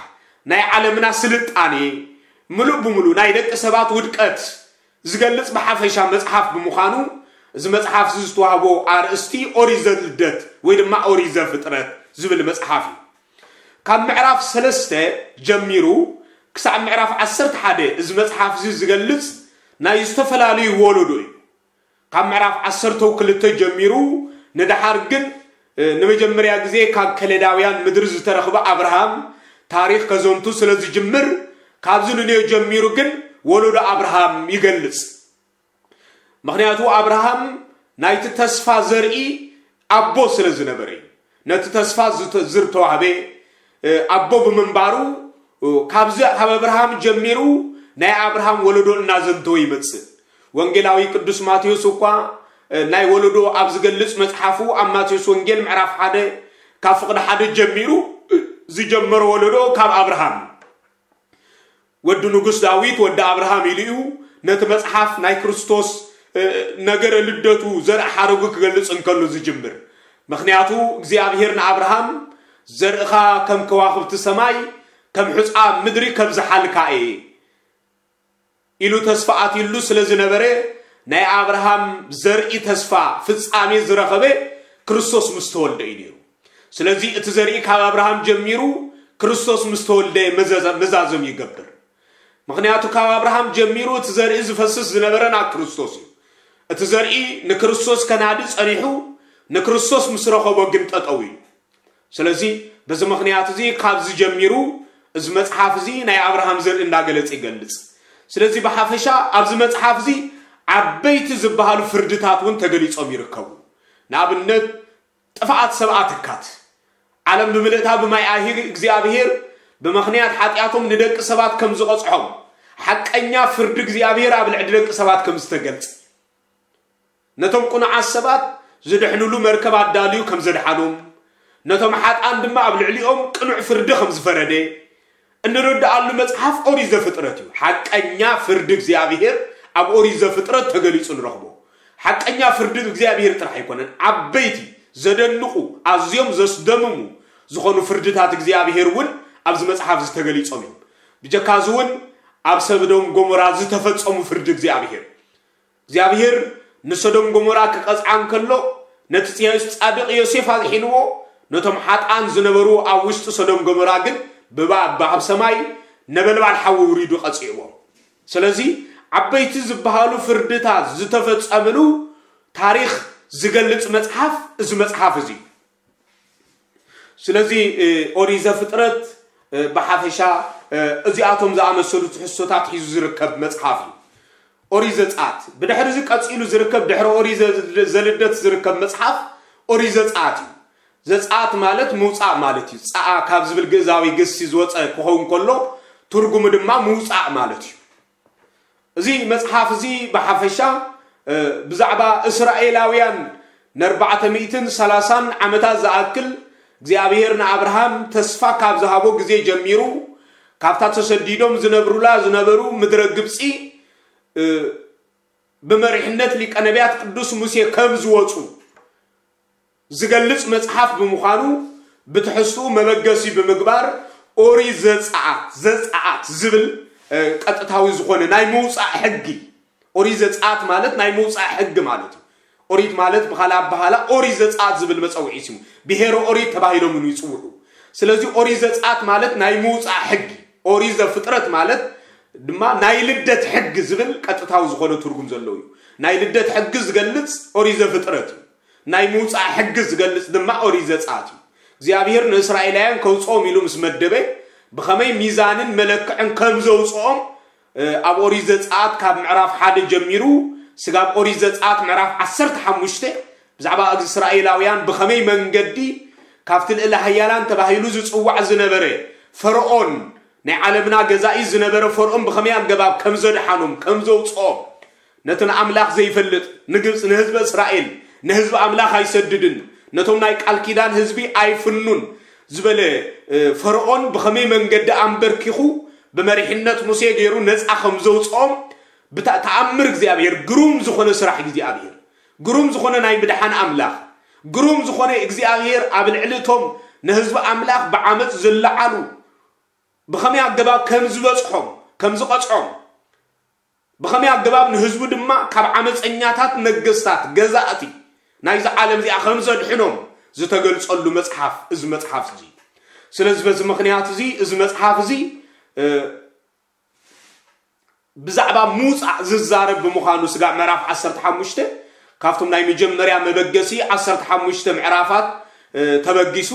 ናይ ዓለምና ስልጣኔ፣ ምሉእ ብምሉእ ናይ ደቂ ሰባት ውድቀት ዝገልጽ ብሓፈሻ መጽሓፍ ብምዃኑ፣ እዚ መጽሓፍ እዚ ዝተዋህቦ ኣርእስቲ ኦሪት ዘልደት ወይ ድማ ኦሪት ዘፍጥረት ዝብል መጽሓፍ እዩ። ካብ ምዕራፍ ሰለስተ ጀሚሩ ክሳዕ ምዕራፍ ዓሰርተ ሓደ እዚ መጽሓፍ እዚ ዝገልጽ ናይ ዝተፈላለዩ ወለዶ እዩ። ካብ ምዕራፍ ዓሰርተው ክልተ ጀሚሩ ንደሓር ግን ንመጀመርያ ግዜ ካብ ከለዳውያን ምድሪ ዝተረኽበ ኣብርሃም ታሪኽ ከዘንቱ ስለ ዝጅምር፣ ካብዚ ንንዮ ጀሚሩ ግን ወለዶ ኣብርሃም ይገልጽ። ምኽንያቱ ኣብርሃም ናይቲ ተስፋ ዘርኢ ኣቦ ስለ ዝነበረ እዩ። ነቲ ተስፋ ዝተወሃበ ኣቦ ብምንባሩ፣ ካብዚ ካብ ኣብርሃም ጀሚሩ ናይ ኣብርሃም ወለዶ እናዘንተወ ይመጽእ። ወንጌላዊ ቅዱስ ማቴዎስ እኳ ናይ ወለዶ ኣብ ዝገልጽ መጽሓፉ ኣብ ማቴዎስ ወንጌል ምዕራፍ ሓደ ካብ ፍቕዲ ሓደ ጀሚሩ ዝጀመሮ ወለዶ ካብ ኣብርሃም ወዲ ንጉስ ዳዊት ወዲ ኣብርሃም ኢሉ እዩ ነቲ መጽሓፍ ናይ ክርስቶስ ነገረ ልደቱ ዘርኢ ሓረጉ ክገልጽ እንከሎ ዝጅምር። ምኽንያቱ እግዚኣብሔር ንኣብርሃም፣ ዘርእኻ ከም ከዋኽብቲ ሰማይ፣ ከም ሑጻ ምድሪ ከብዝሓልካ እየ ኢሉ ተስፋ ኣትይሉ ስለ ዝነበረ፣ ናይ ኣብርሃም ዘርኢ ተስፋ ፍጻሜ ዝረኸበ ክርስቶስ ምስ ተወልደ እዩ ነይሩ። ስለዚ እቲ ዘርኢ ካብ ኣብርሃም ጀሚሩ ክርስቶስ ምስ ተወልደ መዛዘም ይገብር። ምኽንያቱ ካብ ኣብርሃም ጀሚሩ እቲ ዘርኢ ዝፈስስ ዝነበረ ናብ ክርስቶስ እዩ። እቲ ዘርኢ ንክርስቶስ ከናዲ ጸኒሑ፣ ንክርስቶስ ምስ ረኸቦ ግን ጠጠው እዩ። ስለዚ በዚ ምኽንያት እዚ ካብዚ ጀሚሩ እዚ መጽሓፍ እዚ ናይ ኣብርሃም ዘርኢ እንዳገለጸ ይገልጽ። ስለዚ ብሓፈሻ ኣብዚ መጽሓፍ እዚ ዓበይቲ ዝበሃሉ ፍርድታት እውን ተገሊጾም ይርከቡ። ንኣብነት ጥፍኣት ሰብኣ ትካት፣ ዓለም ብምልእታ ብማይ ኣሂር እግዚኣብሔር ብምኽንያት ሓጢኣቶም ንደቂ ሰባት ከም ዝቐጽሖም፣ ሓቀኛ ፍርዲ እግዚኣብሔር ኣብ ልዕሊ ደቂ ሰባት ከም ዝተገልጸ፣ ነቶም ቅኑዓት ሰባት ዝድሕኑሉ መርከብ ኣዳልዩ ከም ዘድሓኖም፣ ነቶም ሓጣን ድማ ኣብ ልዕሊኦም ቅኑዕ ፍርዲ ከም ዝፈረደ እንርድኣሉ መጽሓፍ ኦሪት ዘፍጥረት እዩ። ሓቀኛ ፍርዲ እግዚኣብሔር ኣብ ኦሪት ዘፍጥረት ተገሊጹ ንረኽቦ። ሓቀኛ ፍርዲ እግዚኣብሔር ጥራሕ ኣይኮነን፣ ዓበይቲ ዘደንቑ ኣዝዮም ዘስደምሙ ዝኾኑ ፍርድታት እግዚኣብሔር እውን ኣብዚ መጽሓፍ ዝተገሊጾም እዮም። ብጀካዚ እውን ኣብ ሰዶም ጎሞራ ዝተፈጸሙ ፍርዲ እግዚኣብሔር እግዚኣብሔር ንሰዶም ጎሞራ ክቐጽዓ እንከሎ ነቲ ጻድቕ ዮሴፍ ኣድሒንዎ፣ ነቶም ሓጣን ዝነበሩ ኣብ ውሽጢ ሰዶም ጎሞራ ግን ብባባ ኣብ ሰማይ ነበልባል ሓዊ ውሪዱ ቀጺዕዎም። ስለዚ ዓበይቲ ዝበሃሉ ፍርድታት ዝተፈጸምሉ ታሪኽ ዝገልጽ መጽሓፍ እዚ መጽሓፍ እዚ። ስለዚ ኦሪት ዘፍጥረት ብሓፈሻ እዚኣቶም ዝኣመሰሉ ትሕዝቶታት ሒዙ ዝርከብ መጽሓፍ እዩ። ኦሪት ዘጸኣት ብድሕሪ እዚ ቀጺሉ ዝርከብ፣ ድሕሪ ኦሪት ዘልደት ዝርከብ መጽሓፍ ኦሪት ዘጸኣት እዩ። ዘጸኣት ማለት ምውጻእ ማለት እዩ። ጸኣ ካብ ዝብል ግእዛዊ ግሲ ዝወጸ ክኸውን ከሎ ትርጉሙ ድማ ምውጻእ ማለት እዩ። እዚ መጽሓፍ እዚ ብሓፈሻ ብዛዕባ እስራኤላውያን ንኣርባዕተ ሚእትን ሰላሳን ዓመታት ዝኣክል እግዚኣብሔር ንኣብርሃም ተስፋ ካብ ዝሃቦ ግዜ ጀሚሩ፣ ካብታ ተሰዲዶም ዝነብሩላ ዝነበሩ ምድረ ግብጺ ብመሪሕነት ሊቀ ነቢያት ቅዱስ ሙሴ ከም ዝወጹ ዝገልጽ መጽሓፍ ብምዃኑ ብትሕዝትኡ መበገሲ ብምግባር ኦሪት ዘጸኣት፣ ዘጸኣት ዝብል ቀጥታዊ ዝኾነ ናይ ምውጻእ ሕጊ፣ ኦሪት ዘጸኣት ማለት ናይ ምውጻእ ሕጊ ማለት እዩ። ኦሪት ማለት ብኻልእ ኣበሃላ ኦሪት ዘጸኣት ዝብል መጸውዒ ስሙ፣ ብሔረ ኦሪት ተባሂሎም ይጽውዑ። ስለዚ ኦሪት ዘጸኣት ማለት ናይ ምውጻእ ሕጊ፣ ኦሪት ዘፍጥረት ማለት ድማ ናይ ልደት ሕጊ ዝብል ቀጥታዊ ዝኾነ ትርጉም ዘለዎ እዩ። ናይ ልደት ሕጊ ዝገልጽ ኦሪት ዘፍጥረት እዩ። ናይ ምውጻእ ሕጊ ዝገልጽ ድማ ኦሪት ዘጸኣት እዩ። እግዚኣብሔር ንእስራኤላውያን ከውጽኦም ኢሉ ምስ መደበ ብኸመይ ሚዛንን መለክዕን ከም ዘውጽኦም ኣብ ኦሪት ዘጸኣት ካብ ምዕራፍ ሓደ ጀሚሩ ስጋብ ኦሪት ዘጸኣት ምዕራፍ ዓሰርተ ሓሙሽተ ብዛዕባ እስራኤላውያን ብኸመይ መንገዲ ካብቲ ልእለ ሃያላን ተባሂሉ ዝጽዋዕ ዝነበረ ፈርኦን ናይ ዓለምና ገዛኢ ዝነበረ ፈርኦን ብኸመይ ኣገባብ ከም ዘድሓኖም ከም ዘውጽኦም ነቲ ንኣምላኽ ዘይፈልጥ ንግብፂ ንህዝቢ እስራኤል ንህዝቢ ኣምላኽ ኣይሰድድን ነቶም ናይ ቃል ኪዳን ህዝቢ ኣይፍኑን ዝበለ ፈርኦን ብኸመይ መንገዲ ኣንበርኪኹ ብመሪሕነት ሙሴ ገይሩ ነፃ ከም ዘውፅኦም ብተኣምር እግዚኣብሔር ግሩም ዝኾነ ስራሕ እግዚኣብሔር ግሩም ዝኾነ ናይ ምድሓን ኣምላኽ ግሩም ዝኾነ እግዚኣብሔር ኣብ ልዕሊ እቶም ንህዝቢ ኣምላኽ ብዓመፅ ዝለዓሉ ብኸመይ ኣገባብ ከም ዝበፅሖም ከም ዝቐፅዖም ብኸመይ ኣገባብ ንህዝቡ ድማ ካብ ዓመፀኛታት ነገስታት ገዛእቲ ናይዚ ዓለም እዚኣ ከም ዘድሕኖም ዝተገልፀሉ መፅሓፍ እዚ መፅሓፍ እዚ ስለዚ በዚ ምክንያት እዚ እዚ መፅሓፍ እዚ ብዛዕባ ምውፃእ ዝዛረብ ብምዃኑ ስጋዕ ምዕራፍ ዓሰርተ ሓሙሽተ ካብቶም ናይ መጀመርያ መበገሲ ዓሰርተ ሓሙሽተ ምዕራፋት ተበጊሱ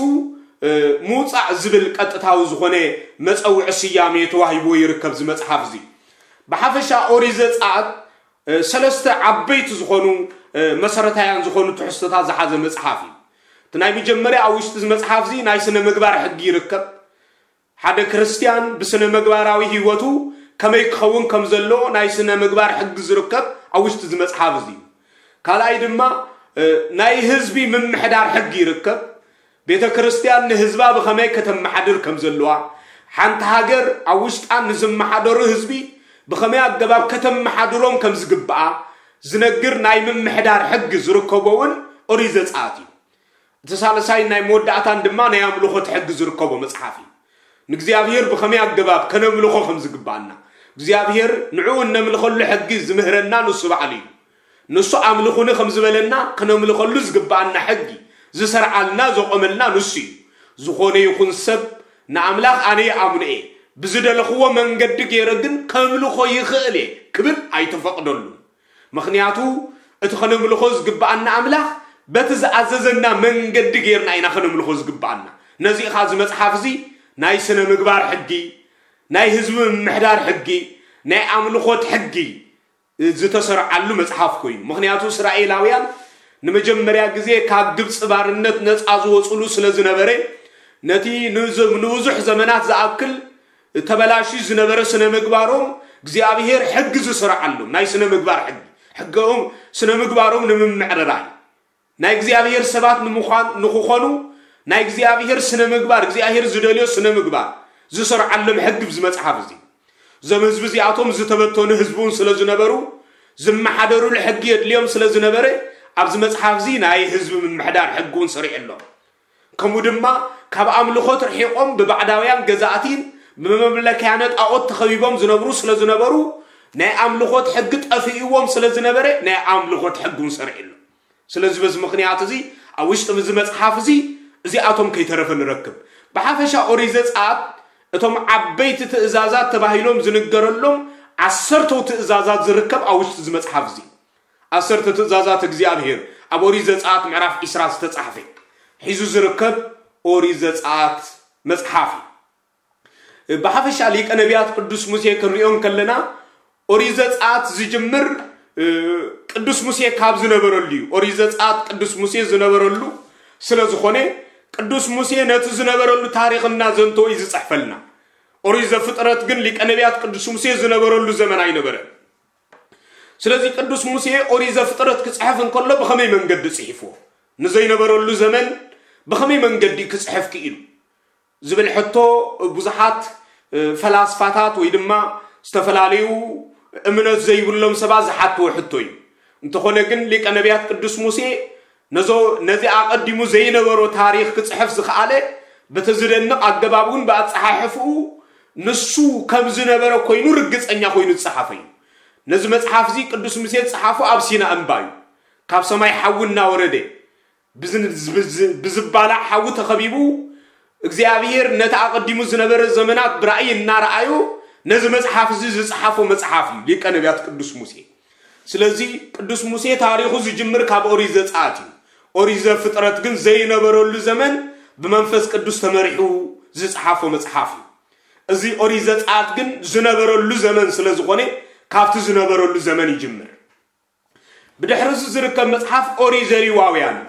ምውፃእ ዝብል ቀጥታዊ ዝኾነ መፀውዒ ስያሜ ተዋሂብዎ ይርከብ እዚ መፅሓፍ እዚ ብሓፈሻ ኦሪት ዘፀኣት ሰለስተ ዓበይቲ ዝኾኑ መሰረታውያን ዝኾኑ ትሕዝቶታት ዝሓዘ መፅሓፍ እዩ እቲ ናይ መጀመርያ ኣብ ውሽጢ እዚ መፅሓፍ እዚ ናይ ስነ ምግባር ሕጊ ይርከብ ሓደ ክርስትያን ብስነ ምግባራዊ ህይወቱ ከመይ ክኸውን ከም ዘለዎ ናይ ስነ ምግባር ሕጊ ዝርከብ ኣብ ውሽጢ እዚ መፅሓፍ እዚ እዩ ካልኣይ ድማ ናይ ህዝቢ ምምሕዳር ሕጊ ይርከብ ቤተ ክርስትያን ንህዝባ ብኸመይ ከተመሓድር ከም ዘለዋ ሓንቲ ሃገር ኣብ ውሽጣ ንዝመሓደሩ ህዝቢ ብኸመይ ኣገባብ ከተመሓድሮም ከም ዝግብኣ ዝነግር ናይ ምምሕዳር ሕጊ ዝርከቦ እውን ኦሪት ዘጸኣት እዩ። እቲ ሳልሳይን ናይ መወዳእታን ድማ ናይ ኣምልኾት ሕጊ ዝርከቦ መጽሓፍ እዩ። ንእግዚኣብሔር ብኸመይ ኣገባብ ከነምልኾ ከም ዝግብኣና፣ እግዚኣብሔር ንዕኡ እነምልኸሉ ሕጊ ዝምህረና ንሱ ባዕሉ እዩ። ንሱ ኣምልኹኒ ከም ዝበለና ከነምልኸሉ ዝግብኣና ሕጊ ዝሰርዓልና ዘቖመልና ንሱ እዩ። ዝኾነ ይኹን ሰብ ንኣምላኽ ኣነ ይኣምኖ እየ፣ ብዝደለኽዎ መንገዲ ገይረ ግን ከምልኾ ይኽእል እየ ክብል ኣይተፈቕደሉን። ምኽንያቱ እቲ ከነምልኾ ዝግብኣና ኣምላኽ በቲ ዝኣዘዘና መንገዲ ገይርና ኢና ከነምልኾ ዝግብኣና። ነዚ ኸዓ እዚ መጽሓፍ እዚ ናይ ስነ ምግባር ሕጊ፣ ናይ ህዝቢ ምምሕዳር ሕጊ፣ ናይ ኣምልኾት ሕጊ ዝተሰርዓሉ መጽሓፍ ኮይኑ። ምኽንያቱ እስራኤላውያን ንመጀመርያ ግዜ ካብ ግብፂ ባርነት ነፃ ዝወፅሉ ስለ ዝነበረ ነቲ ንዝ- ንብዙሕ ዘመናት ዝኣክል ተበላሽዩ ዝነበረ ስነ ምግባሮም እግዚኣብሔር ሕጊ ዝሰርዓሎም ናይ ስነ ምግባር ሕጊ ሕገኦም ስነ ምግባሮም ንምምዕርራይ ናይ እግዚኣብሔር ሰባት ንምዃን ንክኾኑ ናይ እግዚኣብሔር ስነ ምግባር እግዚኣብሔር ዝደልዮ ስነ ምግባር ዝሰርዓሎም ሕጊ ኣብዚ መጽሓፍ እዚ እዞም ህዝቢ እዚኣቶም ዝተበተኑ ህዝቢ እውን ስለ ዝነበሩ ዝመሓደሩሉ ሕጊ የድልዮም ስለ ዝነበረ ኣብዚ መጽሓፍ እዚ ናይ ህዝቢ ምምሕዳር ሕጊ እውን ሰሪዕሎም ከምኡ ድማ ካብ ኣምልኾት ርሒቖም ብባዕዳውያን ገዛእቲን ብመምለክያነ ጣዖት ተኸቢቦም ዝነብሩ ስለ ዝነበሩ ናይ ኣምልኾት ሕጊ ጠፊእዎም ስለ ዝነበረ ናይ ኣምልኾት ሕጊ እውን ሰሪዕሎም ስለዚ በዚ ምኽንያት እዚ ኣብ ውሽጢ እዚ መጽሓፍ እዚ እዚኣቶም ከይተረፈ ንረክብ። ብሓፈሻ ኦሪት ዘጸኣት እቶም ዓበይቲ ትእዛዛት ተባሂሎም ዝንገረሎም ዓሰርተው ትእዛዛት ዝርከብ ኣብ ውሽጢ እዚ መጽሓፍ እዚ። ዓሰርተ ትእዛዛት እግዚኣብሔር ኣብ ኦሪት ዘጸኣት ምዕራፍ ዒስራ ዝተጻሕፈ ሒዙ ዝርከብ ኦሪት ዘጸኣት መጽሓፍ እዩ። ብሓፈሻ ሊቀ ነቢያት ቅዱስ ሙሴ ክንሪኦ እንከለና ኦሪት ዘጸኣት ዝጅምር ቅዱስ ሙሴ ካብ ዝነበረሉ እዩ። ኦሪት ዘጸኣት ቅዱስ ሙሴ ዝነበረሉ ስለ ዝኾነ ቅዱስ ሙሴ ነቲ ዝነበረሉ ታሪኽ እናዘንተወ እዩ ዝጽሕፈልና። ኦሪት ዘፍጥረት ግን ሊቀ ነቢያት ቅዱስ ሙሴ ዝነበረሉ ዘመን ኣይነበረን። ስለዚ ቅዱስ ሙሴ ኦሪት ዘፍጥረት ክጽሕፍ እንከሎ ብኸመይ መንገዲ ጽሒፍዎ? ንዘይነበረሉ ዘመን ብኸመይ መንገዲ ክጽሕፍ ክኢሉ? ዝብል ሕቶ ብዙሓት ፈላስፋታት ወይ ድማ ዝተፈላለዩ እምነት ዘይብሎም ሰባት ዝሓትዎ ሕቶ እዩ። እንተኾነ ግን ሊቀ ነቢያት ቅዱስ ሙሴ ነዞ ነዚ ኣቐዲሙ ዘይነበሮ ታሪኽ ክጽሕፍ ዝኸኣለ በቲ ዝደንቕ ኣገባብ እውን ብኣጸሓሕፍኡ ንሱ ከም ዝነበረ ኮይኑ ርግጸኛ ኮይኑ ዝጸሓፈ እዩ። ነዚ መጽሓፍ እዚ ቅዱስ ሙሴ ዝጸሓፎ ኣብ ሲና እምባ እዩ። ካብ ሰማይ ሓዊ እናወረደ ብዝባላዕ ሓዊ ተኸቢቡ እግዚኣብሔር ነቲ ኣቐዲሙ ዝነበረ ዘመናት ብራእይ እናረኣዩ ነዚ መጽሓፍ እዚ ዝጸሓፎ መጽሓፍ እዩ ሊቀ ነቢያት ቅዱስ ሙሴ። ስለዚ ቅዱስ ሙሴ ታሪኹ ዝጅምር ካብ ኦሪት ዘጸኣት እዩ። ኦሪት ዘፍጥረት ግን ዘይነበረሉ ዘመን ብመንፈስ ቅዱስ ተመሪሑ ዝጸሓፎ መጽሓፍ እዩ። እዚ ኦሪት ዘጸኣት ግን ዝነበረሉ ዘመን ስለ ዝኾነ ካብቲ ዝነበረሉ ዘመን ይጅምር። ብድሕሪ እዚ ዝርከብ መጽሓፍ ኦሪት ዘሌዋውያን እዩ።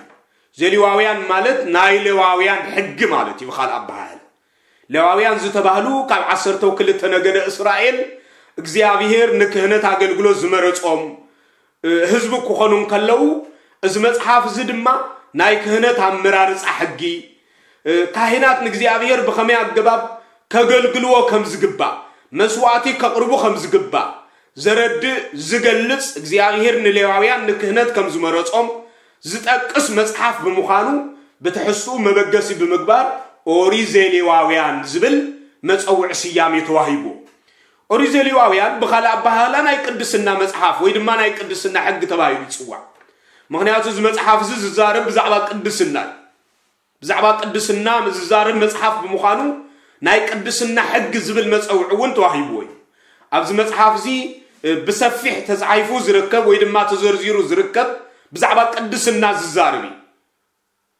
ዘሌዋውያን ማለት ናይ ሌዋውያን ሕጊ ማለት እዩ ብኻልእ ኣበሃህላ። ሌዋውያን ዝተባህሉ ካብ ዓሰርተው ክልተ ነገደ እስራኤል እግዚኣብሔር ንክህነት ኣገልግሎት ዝመረጾም ህዝቢ ክኾኑ እንከለዉ እዚ መጽሓፍ እዚ ድማ ናይ ክህነት ኣመራርጻ ሕጊ ካህናት ንእግዚኣብሔር ብኸመይ ኣገባብ ከገልግልዎ ከም ዝግባእ መስዋዕቲ ከቕርቡ ከም ዝግባእ ዘረድእ ዝገልጽ እግዚኣብሔር ንሌዋውያን ንክህነት ከም ዝመረጾም ዝጠቅስ መጽሓፍ ብምዃኑ ብትሕዝትኡ መበገሲ ብምግባር ኦሪት ዘሌዋውያን ዝብል መጸውዒ ስያሜ ተዋሂቡ። ኦሪት ዘሌዋውያን ብኻልእ ኣበሃህላ ናይ ቅድስና መጽሓፍ ወይ ድማ ናይ ቅድስና ሕጊ ተባሂሉ ይጽዋዕ። ምኽንያቱ እዚ መጽሓፍ እዚ ዝዛረብ ብዛዕባ ቅድስና እዩ። ብዛዕባ ቅድስና ዝዛረብ መጽሓፍ ብምዃኑ ናይ ቅድስና ሕጊ ዝብል መጸውዒ እውን ተዋሂብዎ እዩ። ኣብዚ መጽሓፍ እዚ ብሰፊሕ ተጻሒፉ ዝርከብ ወይ ድማ ተዘርዚሩ ዝርከብ ብዛዕባ ቅድስና ዝዛረብ እዩ።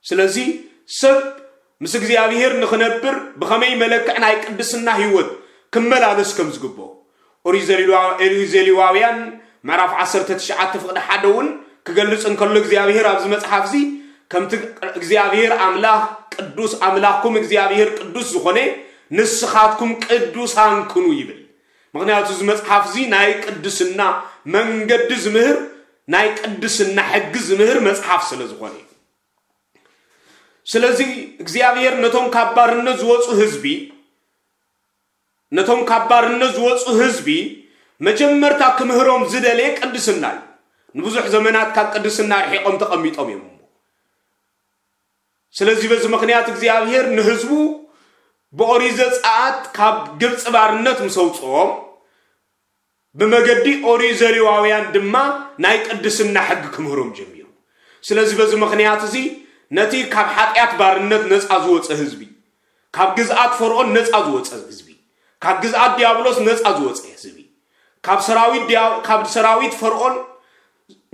ስለዚ ሰብ ምስ እግዚኣብሔር ንኽነብር ብኸመይ መለክዕ ናይ ቅድስና ህይወት ክመላለስ ከም ዝግብኦ ኦሪት ዘሌዋውያን ምዕራፍ ዓሰርተ ትሽዓተ ፍቕዲ ሓደ እውን ክገልጽ እንከሎ እግዚኣብሔር ኣብዚ መጽሓፍ እዚ ከምቲ እግዚኣብሔር ኣምላኽ ቅዱስ ኣምላኽኩም እግዚኣብሔር ቅዱስ ዝኾነ ንስኻትኩም ቅዱሳን ኩኑ ይብል። ምኽንያቱ እዚ መጽሓፍ እዚ ናይ ቅድስና መንገዲ ዝምህር ናይ ቅድስና ሕጊ ዝምህር መጽሓፍ ስለ ዝኾነ እዩ። ስለዚ እግዚኣብሔር ነቶም ካብ ባርነት ዝወፁ ህዝቢ ነቶም ካብ ባርነት ዝወፁ ህዝቢ መጀመርታ ክምህሮም ዝደለየ ቅድስና እዩ። ንብዙሕ ዘመናት ካብ ቅድስና ርሒቆም ተቐሚጦም እዮም እሞ። ስለዚ በዚ ምኽንያት እግዚኣብሔር ንህዝቡ ብኦሪት ዘጸኣት ካብ ግብፂ ባርነት ምስ ኣውፅኦም፣ ብመገዲ ኦሪት ዘሌዋውያን ድማ ናይ ቅድስና ሕጊ ክምህሮም ጀሚሩ። ስለዚ በዚ ምኽንያት እዚ ነቲ ካብ ሓጢኣት ባርነት ነፃ ዝወፀ ህዝቢ፣ ካብ ግዝኣት ፈርዖን ነፃ ዝወፀ ህዝቢ፣ ካብ ግዝኣት ዲያብሎስ ነፃ ዝወፀ ህዝቢ፣ ካብ ሰራዊት ዲያ-፣ ካብ ሰራዊት ፈርዖን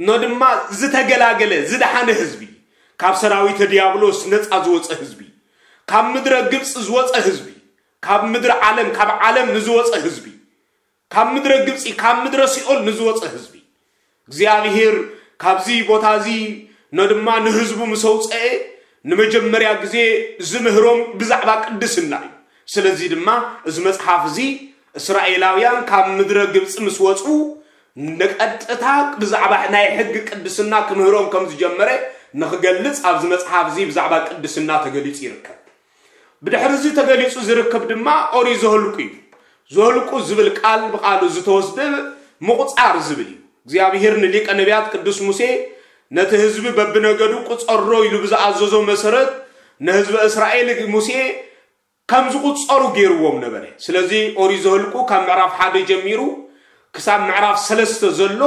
ኖ ድማ ዝተገላገለ ዝደሓነ ህዝቢ፣ ካብ ሰራዊት ዲያብሎስ ነፃ ዝወፀ ህዝቢ፣ ካብ ምድረ ግብፂ ዝወፀ ህዝቢ፣ ካብ ምድሪ ዓለም፣ ካብ ዓለም ንዝወፀ ህዝቢ፣ ካብ ምድረ ግብፂ፣ ካብ ምድረ ሲኦል ንዝወፀ ህዝቢ፣ እግዚኣብሔር ካብዚ ቦታ እዚ ኖ ድማ ንህዝቡ ምስ ኣውፀኤ ንመጀመርያ ግዜ ዝምህሮም ብዛዕባ ቅድስና እዩ። ስለዚ ድማ እዚ መጽሓፍ እዚ እስራኤላውያን ካብ ምድረ ግብፂ ምስ ወፁ ንቀጥታ ብዛዕባ ናይ ሕጊ ቅድስና ክምህሮም ከም ዝጀመረ ንክገልፅ ኣብዚ መጽሓፍ እዚ ብዛዕባ ቅድስና ተገሊፁ ይርከብ። ብድሕሪ እዚ ተገሊፁ ዝርከብ ድማ ኦሪት ዘኍልቁ እዩ። ዘኍልቁ ዝብል ቃል ብቃሉ ዝተወስደ ምቑፃር ዝብል እዩ። እግዚኣብሔር ንሊቀ ነቢያት ቅዱስ ሙሴ ነቲ ህዝቢ በብነገዱ ቁፀሮ ኢሉ ብዝኣዘዞ መሰረት ንህዝቢ እስራኤል ሙሴ ከም ዝቑፀሩ ገይርዎም ነበረ። ስለዚ ኦሪት ዘኍልቁ ካብ ምዕራፍ ሓደ ጀሚሩ ክሳብ ምዕራፍ ሰለስተ ዘሎ፣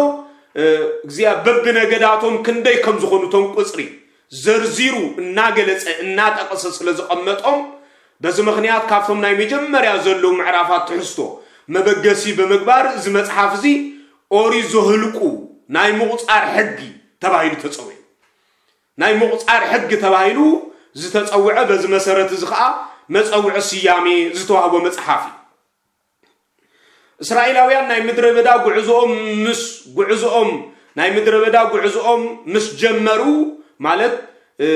እ፣ እግዚኣብ-፣ በብነገዳቶም ክንደይ ከም ዝኾኑ እቶም ቁፅሪ ዘርዚሩ እናገለፀ እናጠቐሰ ስለ ዝቐመጦም፣ በዚ ምኽንያት ካብቶም ናይ መጀመርያ ዘለዉ ምዕራፋት ትሕዝቶ መበገሲ ብምግባር እዚ መጽሓፍ እዚ ኦሪት ዘኍልቁ ናይ ምቑፃር ሕጊ ተባሂሉ ተጸውዑ። ናይ ምቑፃር ሕጊ ተባሂሉ ዝተጸውዐ፣ በዚ መሰረት እዚ ኸኣ መጸውዒ ስያሜ ዝተዋህቦ መጽሓፍ እዩ። እስራኤላውያን ናይ ምድረ በዳ ጉዕዞኦም ምስ፣ ጉዕዞኦም፣ ናይ ምድረ በዳ ጉዕዞኦም ምስ ጀመሩ፣ ማለት፣ እ፣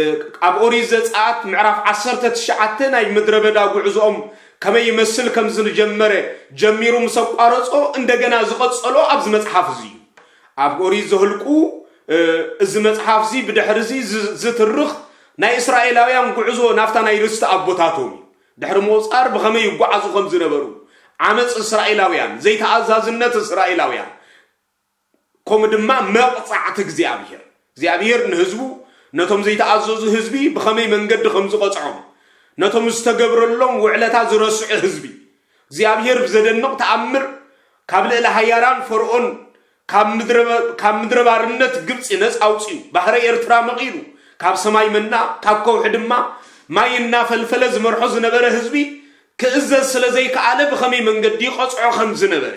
ኣብ ኦሪት ዘጸኣት ምዕራፍ ዓሰርተ ትሽዓተ ናይ ምድረ በዳ ጉዕዞኦም ከመይ ይመስል ከም ዝጀመረ ጀሚሩ ምስ ኣቋረጾ፣ እንደገና ዝቐጸሎ ኣብዚ መጽሓፍ እዚ እዩ። ኣብ ኦሪት ዘኍልቁ፣ እ፣ እዚ መጽሓፍ እዚ ብድሕሪ እዚ ዝ-፣ ዝትርኽ ናይ እስራኤላውያን ጉዕዞ ናብታ ናይ ርስቲ ኣቦታቶም እዩ። ድሕሪ ምቑጻር ብኸመይ ይጓዓዙ ከም ዝነበሩ፣ ዓመፅ እስራኤላውያን፣ ዘይተኣዛዝነት እስራኤላውያን፣ ከምኡ ድማ መቕጻዕቲ እግዚኣብሔር። እግዚኣብሔር ንህዝቡ፣ ነቶም ዘይተኣዘዙ ህዝቢ ብኸመይ መንገዲ ከም ዝቐጽዖም፣ ነቶም ዝተገብረሎም ውዕለታ ዝረስዑ ህዝቢ፣ እግዚኣብሔር ብዘደንቕ ተኣምር ካብ ልዕሊ ሃያራን ፈርዖን ካብ ምድረ በ-፣ ካብ ምድረ ባርነት ግብፂ ነፃ ኣውፂኡ፣ ባሕረ ኤርትራ መቒሉ፣ ካብ ሰማይ መና፣ ካብ ከውሒ ድማ ማይ እናፈልፈለ ዝመርሖ ዝነበረ ህዝቢ ክእዘዝ ስለ ዘይከኣለ ብኸመይ መንገዲ ይቐፅዖ ከም ዝነበረ፣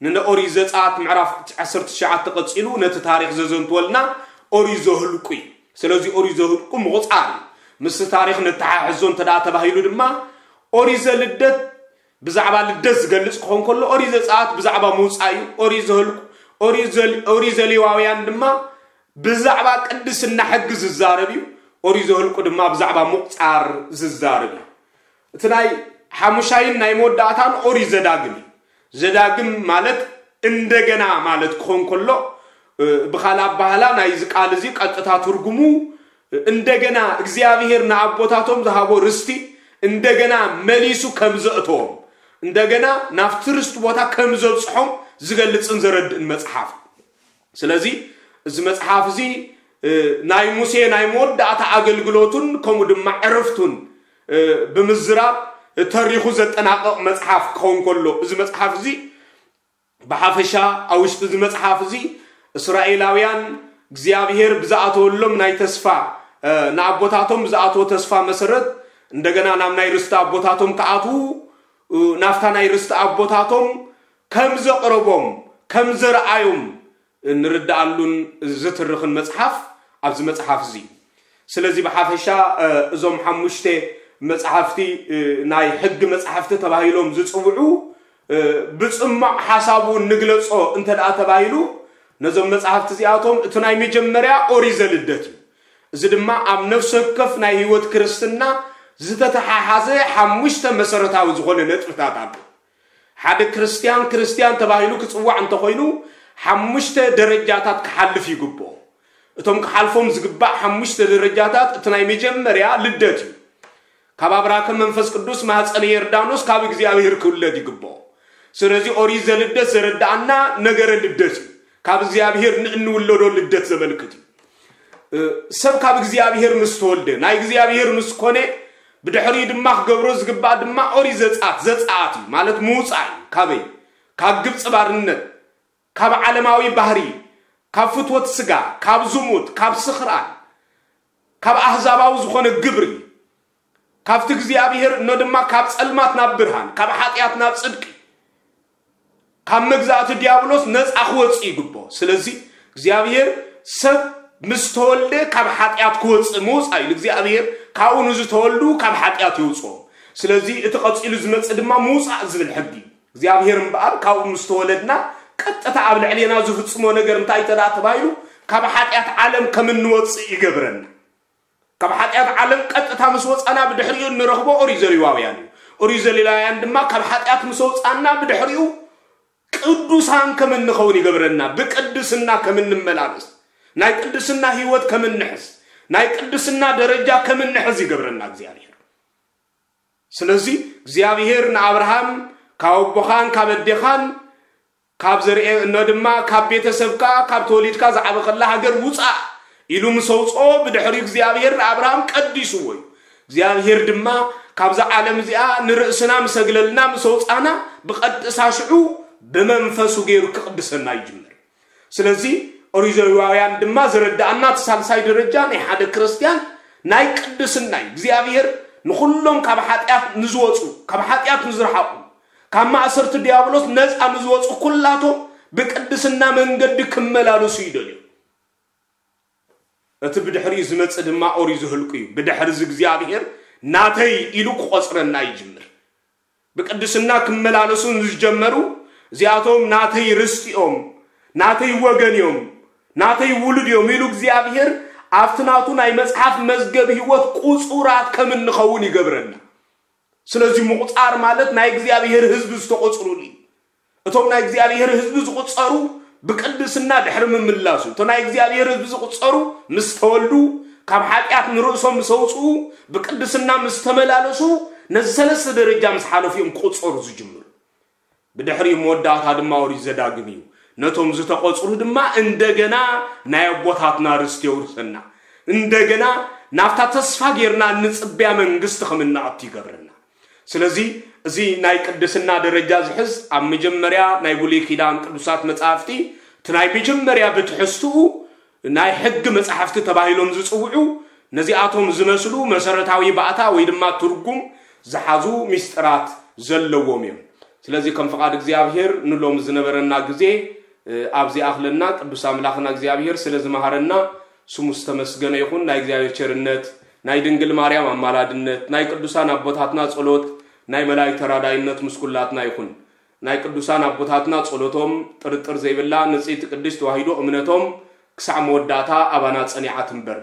ንኦሪት ዘጸኣት ምዕራፍ ዓሰርተ ትሽዓተ ቀጺሉ ነቲ ታሪኽ ዘዘንትወልና ኦሪት ዘኍልቁ እዩ። ስለዚ ኦሪት ዘኍልቁ ምቑጻር እዩ። ምስቲ ታሪኽ ነተሓሕዞ እንተ ደኣ ተባሂሉ ድማ ኦሪት ዘልደት ብዛዕባ ልደት ዝገልጽ ክኾን ከሎ፣ ኦሪት ዘጸኣት ብዛዕባ ምውጻእ እዩ። ኦሪት ዘኍልቁ፣ ኦሪት ዘል-፣ ኦሪት ዘሌዋውያን ድማ ብዛዕባ ቅድስና ሕጊ ዝዛረብ እዩ። ኦሪት ዘኍልቁ ድማ ብዛዕባ ምቑጻር ዝዛረብ እዩ። እቲ ናይ ሓሙሻይን ናይ መወዳእታን ኦሪት ዘዳግም እዩ። ዘዳግም ማለት እንደገና ማለት ክኾን ከሎ፣ እ፣ ብኻልእ ኣባህላ ናይዚ ቃል እዚ ቀጥታ ትርጉሙ፣ እ፣ እንደገና እግዚኣብሔር ንኣቦታቶም ዝሃቦ ርስቲ እንደገና መሊሱ ከም ዘእተዎም፣ እንደገና ናብቲ ርስቲ ቦታ ከም ዘብጽሖም ዝገልጽን ዘረድእን መጽሓፍ እዩ። ስለዚ እዚ መጽሓፍ እዚ፣ እ፣ ናይ ሙሴ ናይ መወዳእታ ኣገልግሎቱን ከምኡ ድማ ዕረፍቱን፣ እ፣ ብምዝራብ ተሪኹ ዘጠናቕቕ መጽሓፍ ክኸውን ከሎ፣ እዚ መጽሓፍ እዚ ብሓፈሻ ኣብ ውሽጢ እዚ መጽሓፍ እዚ እስራኤላውያን እግዚኣብሔር ብዝኣተወሎም ናይ ተስፋ፣ እ፣ ንኣቦታቶም ብዝኣተወ ተስፋ መሰረት እንደገና ናብ ናይ ርስቲ ኣቦታቶም ክኣትዉ፣ እ፣ ናብታ ናይ ርስቲ ኣቦታቶም ከም ዘቕረቦም፣ ከም ዘርኣዮም እንርድኣሉን ዝትርኽን መጽሓፍ ኣብዚ መጽሓፍ እዚ። ስለዚ ብሓፈሻ፣ እ፣ እዞም ሓሙሽተ መጽሓፍቲ፣ እ፣ ናይ ሕጊ መጽሓፍቲ ተባሂሎም ዝጽውዑ፣ እ፣ ብጽማቕ ሓሳቡ ንግለጾ እንተ ደኣ ተባሂሉ፣ ነዞም መጽሓፍቲ እዚኣቶም እቲ ናይ መጀመርያ ኦሪት ዘልደት እዩ። እዚ ድማ ኣብ ነፍሲ ወከፍ ናይ ህይወት ክርስትና ዝተተሓሓዘ ሓሙሽተ መሰረታዊ ዝኾነ ነጥብታት ኣሎ። ሓደ ክርስትያን፣ ክርስትያን ተባሂሉ ክጽዋዕ እንተኾይኑ፣ ሓሙሽተ ደረጃታት ክሓልፍ ይግብኦ። እቶም ክሓልፎም ዝግባእ ሓሙሽተ ደረጃታት፣ እቲ ናይ መጀመርያ ልደት እዩ። ካብ ኣብራከ መንፈስ ቅዱስ ማህፀነ ዮርዳኖስ ካብ እግዚኣብሔር ክውለድ ይግብኦ። ስለዚ ኦሪት ዘልደት ዘረዳኣና ነገረ ልደት እዩ። ካብ እግዚኣብሔር ንእንውለዶ ልደት ዘመልክት እዩ። ሰብ ካብ እግዚኣብሔር ምስ ተወልደ ናይ እግዚኣብሔር ምስ ኮነ ብድሕሪኡ ድማ ክገብሮ ዝግባእ ድማ ኦሪት ዘጻት ዘጻት እዩ ማለት ምውጻእ እዩ። ካበይ? ካብ ግብፂ ባርነት፣ ካብ ዓለማዊ ባህሪ፣ ካብ ፍትወት ስጋ፣ ካብ ዝሙት፣ ካብ ስኽራን፣ ካብ ኣህዛባዊ ዝኾነ ግብሪ፣ ካብቲ እግዚኣብሔር እኖ ድማ ካብ ጸልማት ናብ ብርሃን፣ ካብ ሓጢኣት ናብ ጽድቂ፣ ካብ መግዛእቲ ዲያብሎስ ነጻ ክወጽእ ይግብኦ። ስለዚ እግዚኣብሔር ሰብ ምስ ተወልደ ካብ ሓጢኣት ክወጽእ ምውጻእ እዩ። እግዚኣብሔር ካብኡ ንዝተወልዱ ካብ ሓጢኣት የውጽኦም። ስለዚ እቲ ቀጺሉ ዝመጽእ ድማ ምውጻእ ዝብል ሕጊ እዩ። እግዚኣብሔር እምበኣር ካብኡ ምስ ተወለድና ቀጥታ ኣብ ልዕሌና ዝፍጽሞ ነገር እንታይ እንተ ደኣ ተባሂሉ ካብ ሓጢኣት ዓለም ከም እንወጽእ ይገብረና። ካብ ሓጢኣት ዓለም ቀጥታ ምስ ወጻና ብድሕሪኡ እንረኽቦ ኦሪት ዘሌዋውያን እዩ። ኦሪት ዘሌዋውያን ድማ ካብ ሓጢኣት ምስ ወጻና ብድሕሪኡ ቅዱሳን ከም እንኸውን ይገብረና። ብቅድስና ከም እንመላለስ፣ ናይ ቅድስና ህይወት ከም እንሕዝ፣ ናይ ቅድስና ደረጃ ከም እንሕዝ ይገብረና እግዚኣብሔር። ስለዚ እግዚኣብሔር ንኣብርሃም ካብ ኣቦኻን ካብ ኣዴኻን ካብ ዘርኤ እኖ ድማ ካብ ቤተሰብካ ካብ ተወሊድካ ዝዓበኸላ ሃገር ውፃእ ኢሉ ምስ ኣውፅኦ ብድሕሪኡ እግዚኣብሔር ንኣብርሃም ቀዲስዎ እዩ። እግዚኣብሔር ድማ ካብዛ ዓለም እዚኣ ንርእስና ምስ ኣግለልና ምስ ኣውፃና ብቐጥታ ሽዑ ብመንፈሱ ገይሩ ክቕድሰና ይጅምር። ስለዚ ኦሪት ዘሌዋውያን ድማ ዝረዳኣና እቲ ሳልሳይ ደረጃ ናይ ሓደ ክርስትያን ናይ ቅድስና እዩ። እግዚኣብሔር ንኹሎም ካብ ሓጢኣት ንዝወፁ፣ ካብ ሓጢኣት ንዝረሓቑ፣ ካብ ማእሰርቲ ዲያብሎስ ነፃ ንዝወፁ ኩላቶም ብቅድስና መንገዲ ክመላለሱ ይደልዩ። እቲ ብድሕሪኡ ዝመጽእ ድማ ኦሪት ዘኍልቍ እዩ። ብድሕሪ እዚ እግዚኣብሔር ናተይ ኢሉ ክቖጽረና ይጅምር። ብቅድስና ክመላለሱ ንዝጀመሩ እዚኣቶም ናተይ ርስቲ እዮም፣ ናተይ ወገን እዮም፣ ናተይ ውሉድ እዮም ኢሉ እግዚኣብሔር ኣብቲ ናቱ ናይ መጽሓፍ መዝገብ ህይወት ቁጹራት ከም እንኸውን ይገብረና። ስለዚ ምቑጻር ማለት ናይ እግዚኣብሔር ህዝቢ ዝተቖጽሩሉ እዩ። እቶም ናይ እግዚኣብሔር ህዝቢ ዝቑጸሩ ብቅድስና ድሕሪ ምምላሱ፣ እቶም ናይ እግዚኣብሔር ህዝቢ ዝቑጸሩ ምስ ተወልዱ፣ ካብ ሓጢኣት ንርእሶም ምስ ኣውጽኡ፣ ብቅድስና ምስ ተመላለሱ፣ ነዚ ሰለስተ ደረጃ ምስ ሓለፉ እዮም ክቑጸሩ ዝጅምሩ። ብድሕሪኡ መወዳእታ ድማ ኦሪት ዘዳግም እዩ። ነቶም ዝተቖጽሩ ድማ እንደገና ናይ ኣቦታትና ርስቲ የውርሰና። እንደገና ናብታ ተስፋ ጌርና እንጽበያ መንግስቲ ከም እንኣቱ ይገብረና። ስለዚ እዚ ናይ ቅድስና ደረጃ ዝሕዝ ኣብ መጀመርያ ናይ ብሉይ ኪዳን ቅዱሳት መጻሕፍቲ እቲ ናይ መጀመርያ ብትሕዝትኡ ናይ ሕጊ መጻሕፍቲ ተባሂሎም ዝጽውዑ ነዚኣቶም ዝመስሉ መሰረታዊ ባእታ ወይ ድማ ትርጉም ዝሓዙ ሚስጥራት ዘለዎም እዮም። ስለዚ ከም ፍቓድ እግዚኣብሔር ንሎም ዝነበረና ግዜ ኣብዚ ኣኽለና። ቅዱስ ኣምላኽና እግዚኣብሔር ስለ ዝመሃረና ስሙ ዝተመስገነ ይኹን። ናይ እግዚኣብሔር ቸርነት፣ ናይ ድንግል ማርያም ኣማላድነት፣ ናይ ቅዱሳን ኣቦታትና ጸሎት፣ ናይ መላእክት ተራዳይነት ምስ ኩላትና ይኹን። ናይ ቅዱሳን ኣቦታትና ጸሎቶም ጥርጥር ዘይብላ ንጽሕቲ ቅድስት ተዋሂዶ እምነቶም ክሳዕ መወዳእታ ኣባና ጸኒዓ ትንበር።